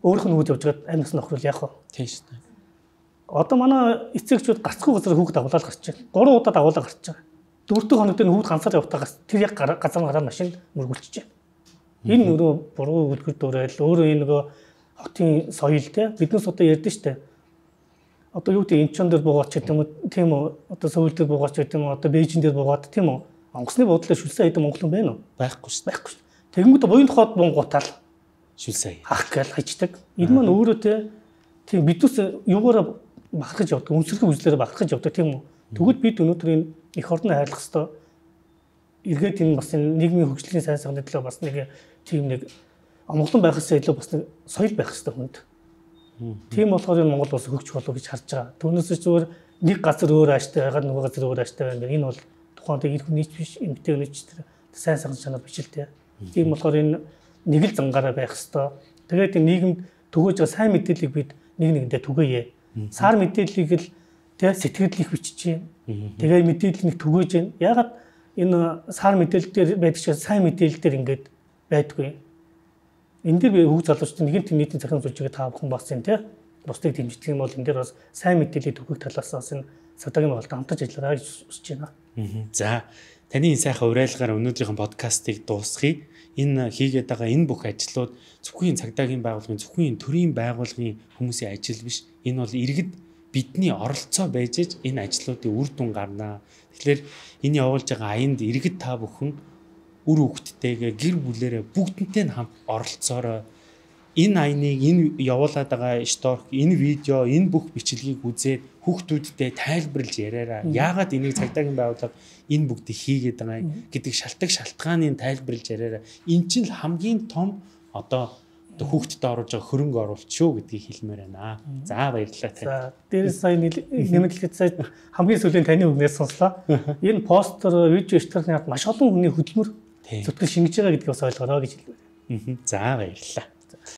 өөрөх нь хүүд явж байгаа амьдс нөхрөл яах вэ? Тийм шүү дээ. Одоо манай эцэгчүүд гацгүй газар хүүхд дагуулаад гарч байна. Гурван удаа дагуулаад гарч байгаа. Дөрөвдүгээр хоног дээр хүүхд ганцаар явахтаагаас тэр яг газар гараад машин мөргүүлчихэж байна. Энэ нөгөө буруу үлгэр дуурайл өөрөө энэ нөгөө хотын соёл те биднээс одоо ярьдэн штэ. Одоо юу гэдэг Инчон дээр буугаач гэдэг юм уу тийм үү? Одоо Сөүл дээр буугаач гэдэг юм уу? Одоо Бээжин дээр буугаад тийм үү? Онгоцны бодлоо шүлсэн хэдэн монголон байна уу? Байхгүй шүү. Байхгүй шүү. Тэгэнгүүт буян тухайд бунгуутаал шүлсэн хах гал хайчдаг. Энэ маань өөрөө те тийм биднээс юугаараа бахархаж явдаг, үнсэрхэг үзлээрээ бахархаж явдаг тийм үү? Тэгвэл бид өнөөдөр энэ эх орноо хайрлах хэвээр эргээд энэ бас энэ нийгмийн хөгжлийн сайн сайхны төлөө бас нэг тийм нэг амгалан байхсаа илүү бас нэг соёл байх хэвээр хүнд. Тийм болохоор энэ Монгол улс хөгжих болов гэж харж байгаа. Түүнээс зүгээр нэг газар өөр ааштай байгаад нөгөө газар өөр ааштай байна. Энэ бол тухайн тэр хүн нийт биш, эмгтэй өнөч тэр сайн сайхан чанар биш л дээ. Тийм болохоор энэ нэг л зангаараа байх хэвээр. Тэгээд энэ нийгэмд төгөөж байгаа сайн мэдээллийг бид нэг нэгэндээ түгээе. Сар мэдээллийг л тэг сэтгэл их бичиж байна. Тэгээд мэдээлэл нэг түгөөж байна. Ягаад энэ сар мэдээлэл дээр байдаг шиг сайн мэдээлэл дээр ингээд байдгүй. Энэ дээр би хүүхд залуучдын нэгэн тийм нийтийн захиргааны зүйлчгээ та бүхэн бас энэ тий бусдыг дэмждэг юм бол энэ дээр бас сайн мэдээллийг түгэх талаас бас энэ садагийн байгууллагад хамтарч ажиллаарай гэж хүсэж байна. За таны энэ сайхан уриалгаар өнөөдрийн подкастыг дуусгая. Энэ хийгээд байгаа энэ бүх ажлууд зөвхөн цагдаагийн байгууллагын зөвхөн төрийн байгууллагын хүмүүсийн ажил биш. Энэ бол иргэд бидний оролцоо байж иж энэ ажлуудын үр дүн гарнаа. Тэгэхээр энэ явуулж байгаа аянд иргэд та бүхэн үр хөвгттэйгээ гэр бүлээрээ бүгднтэй хамт оролцоорой. Энэ аяныг энэ явуулаад байгаа шторк, энэ видео, энэ бүх бичлэгийг үзээд хүүхдүүдтэй тайлбарлаж яриараа. Яагаад энийг цагдаагийн байгууллага энэ бүгдийг хийгээд байгаа гэдэг шалтгаан шалтгааныг тайлбарлаж яриараа. Энэ чинь хамгийн том одоо хүүхдэд оруулж байгаа хөрөнгө оруулалт шүү гэдгийг хэлмээр байна. За баярлалаа тань. За дээрээс сая нэмэлтгээд сая хамгийн сүүлийн таны үгнээс сонслоо. Энэ постэр, видео штрихны ард маш олон хүний хөдөлмөр зүтгэл шингэж байгаа гэдгийг бас ойлгороо гэж хэлмээр. За баярлалаа.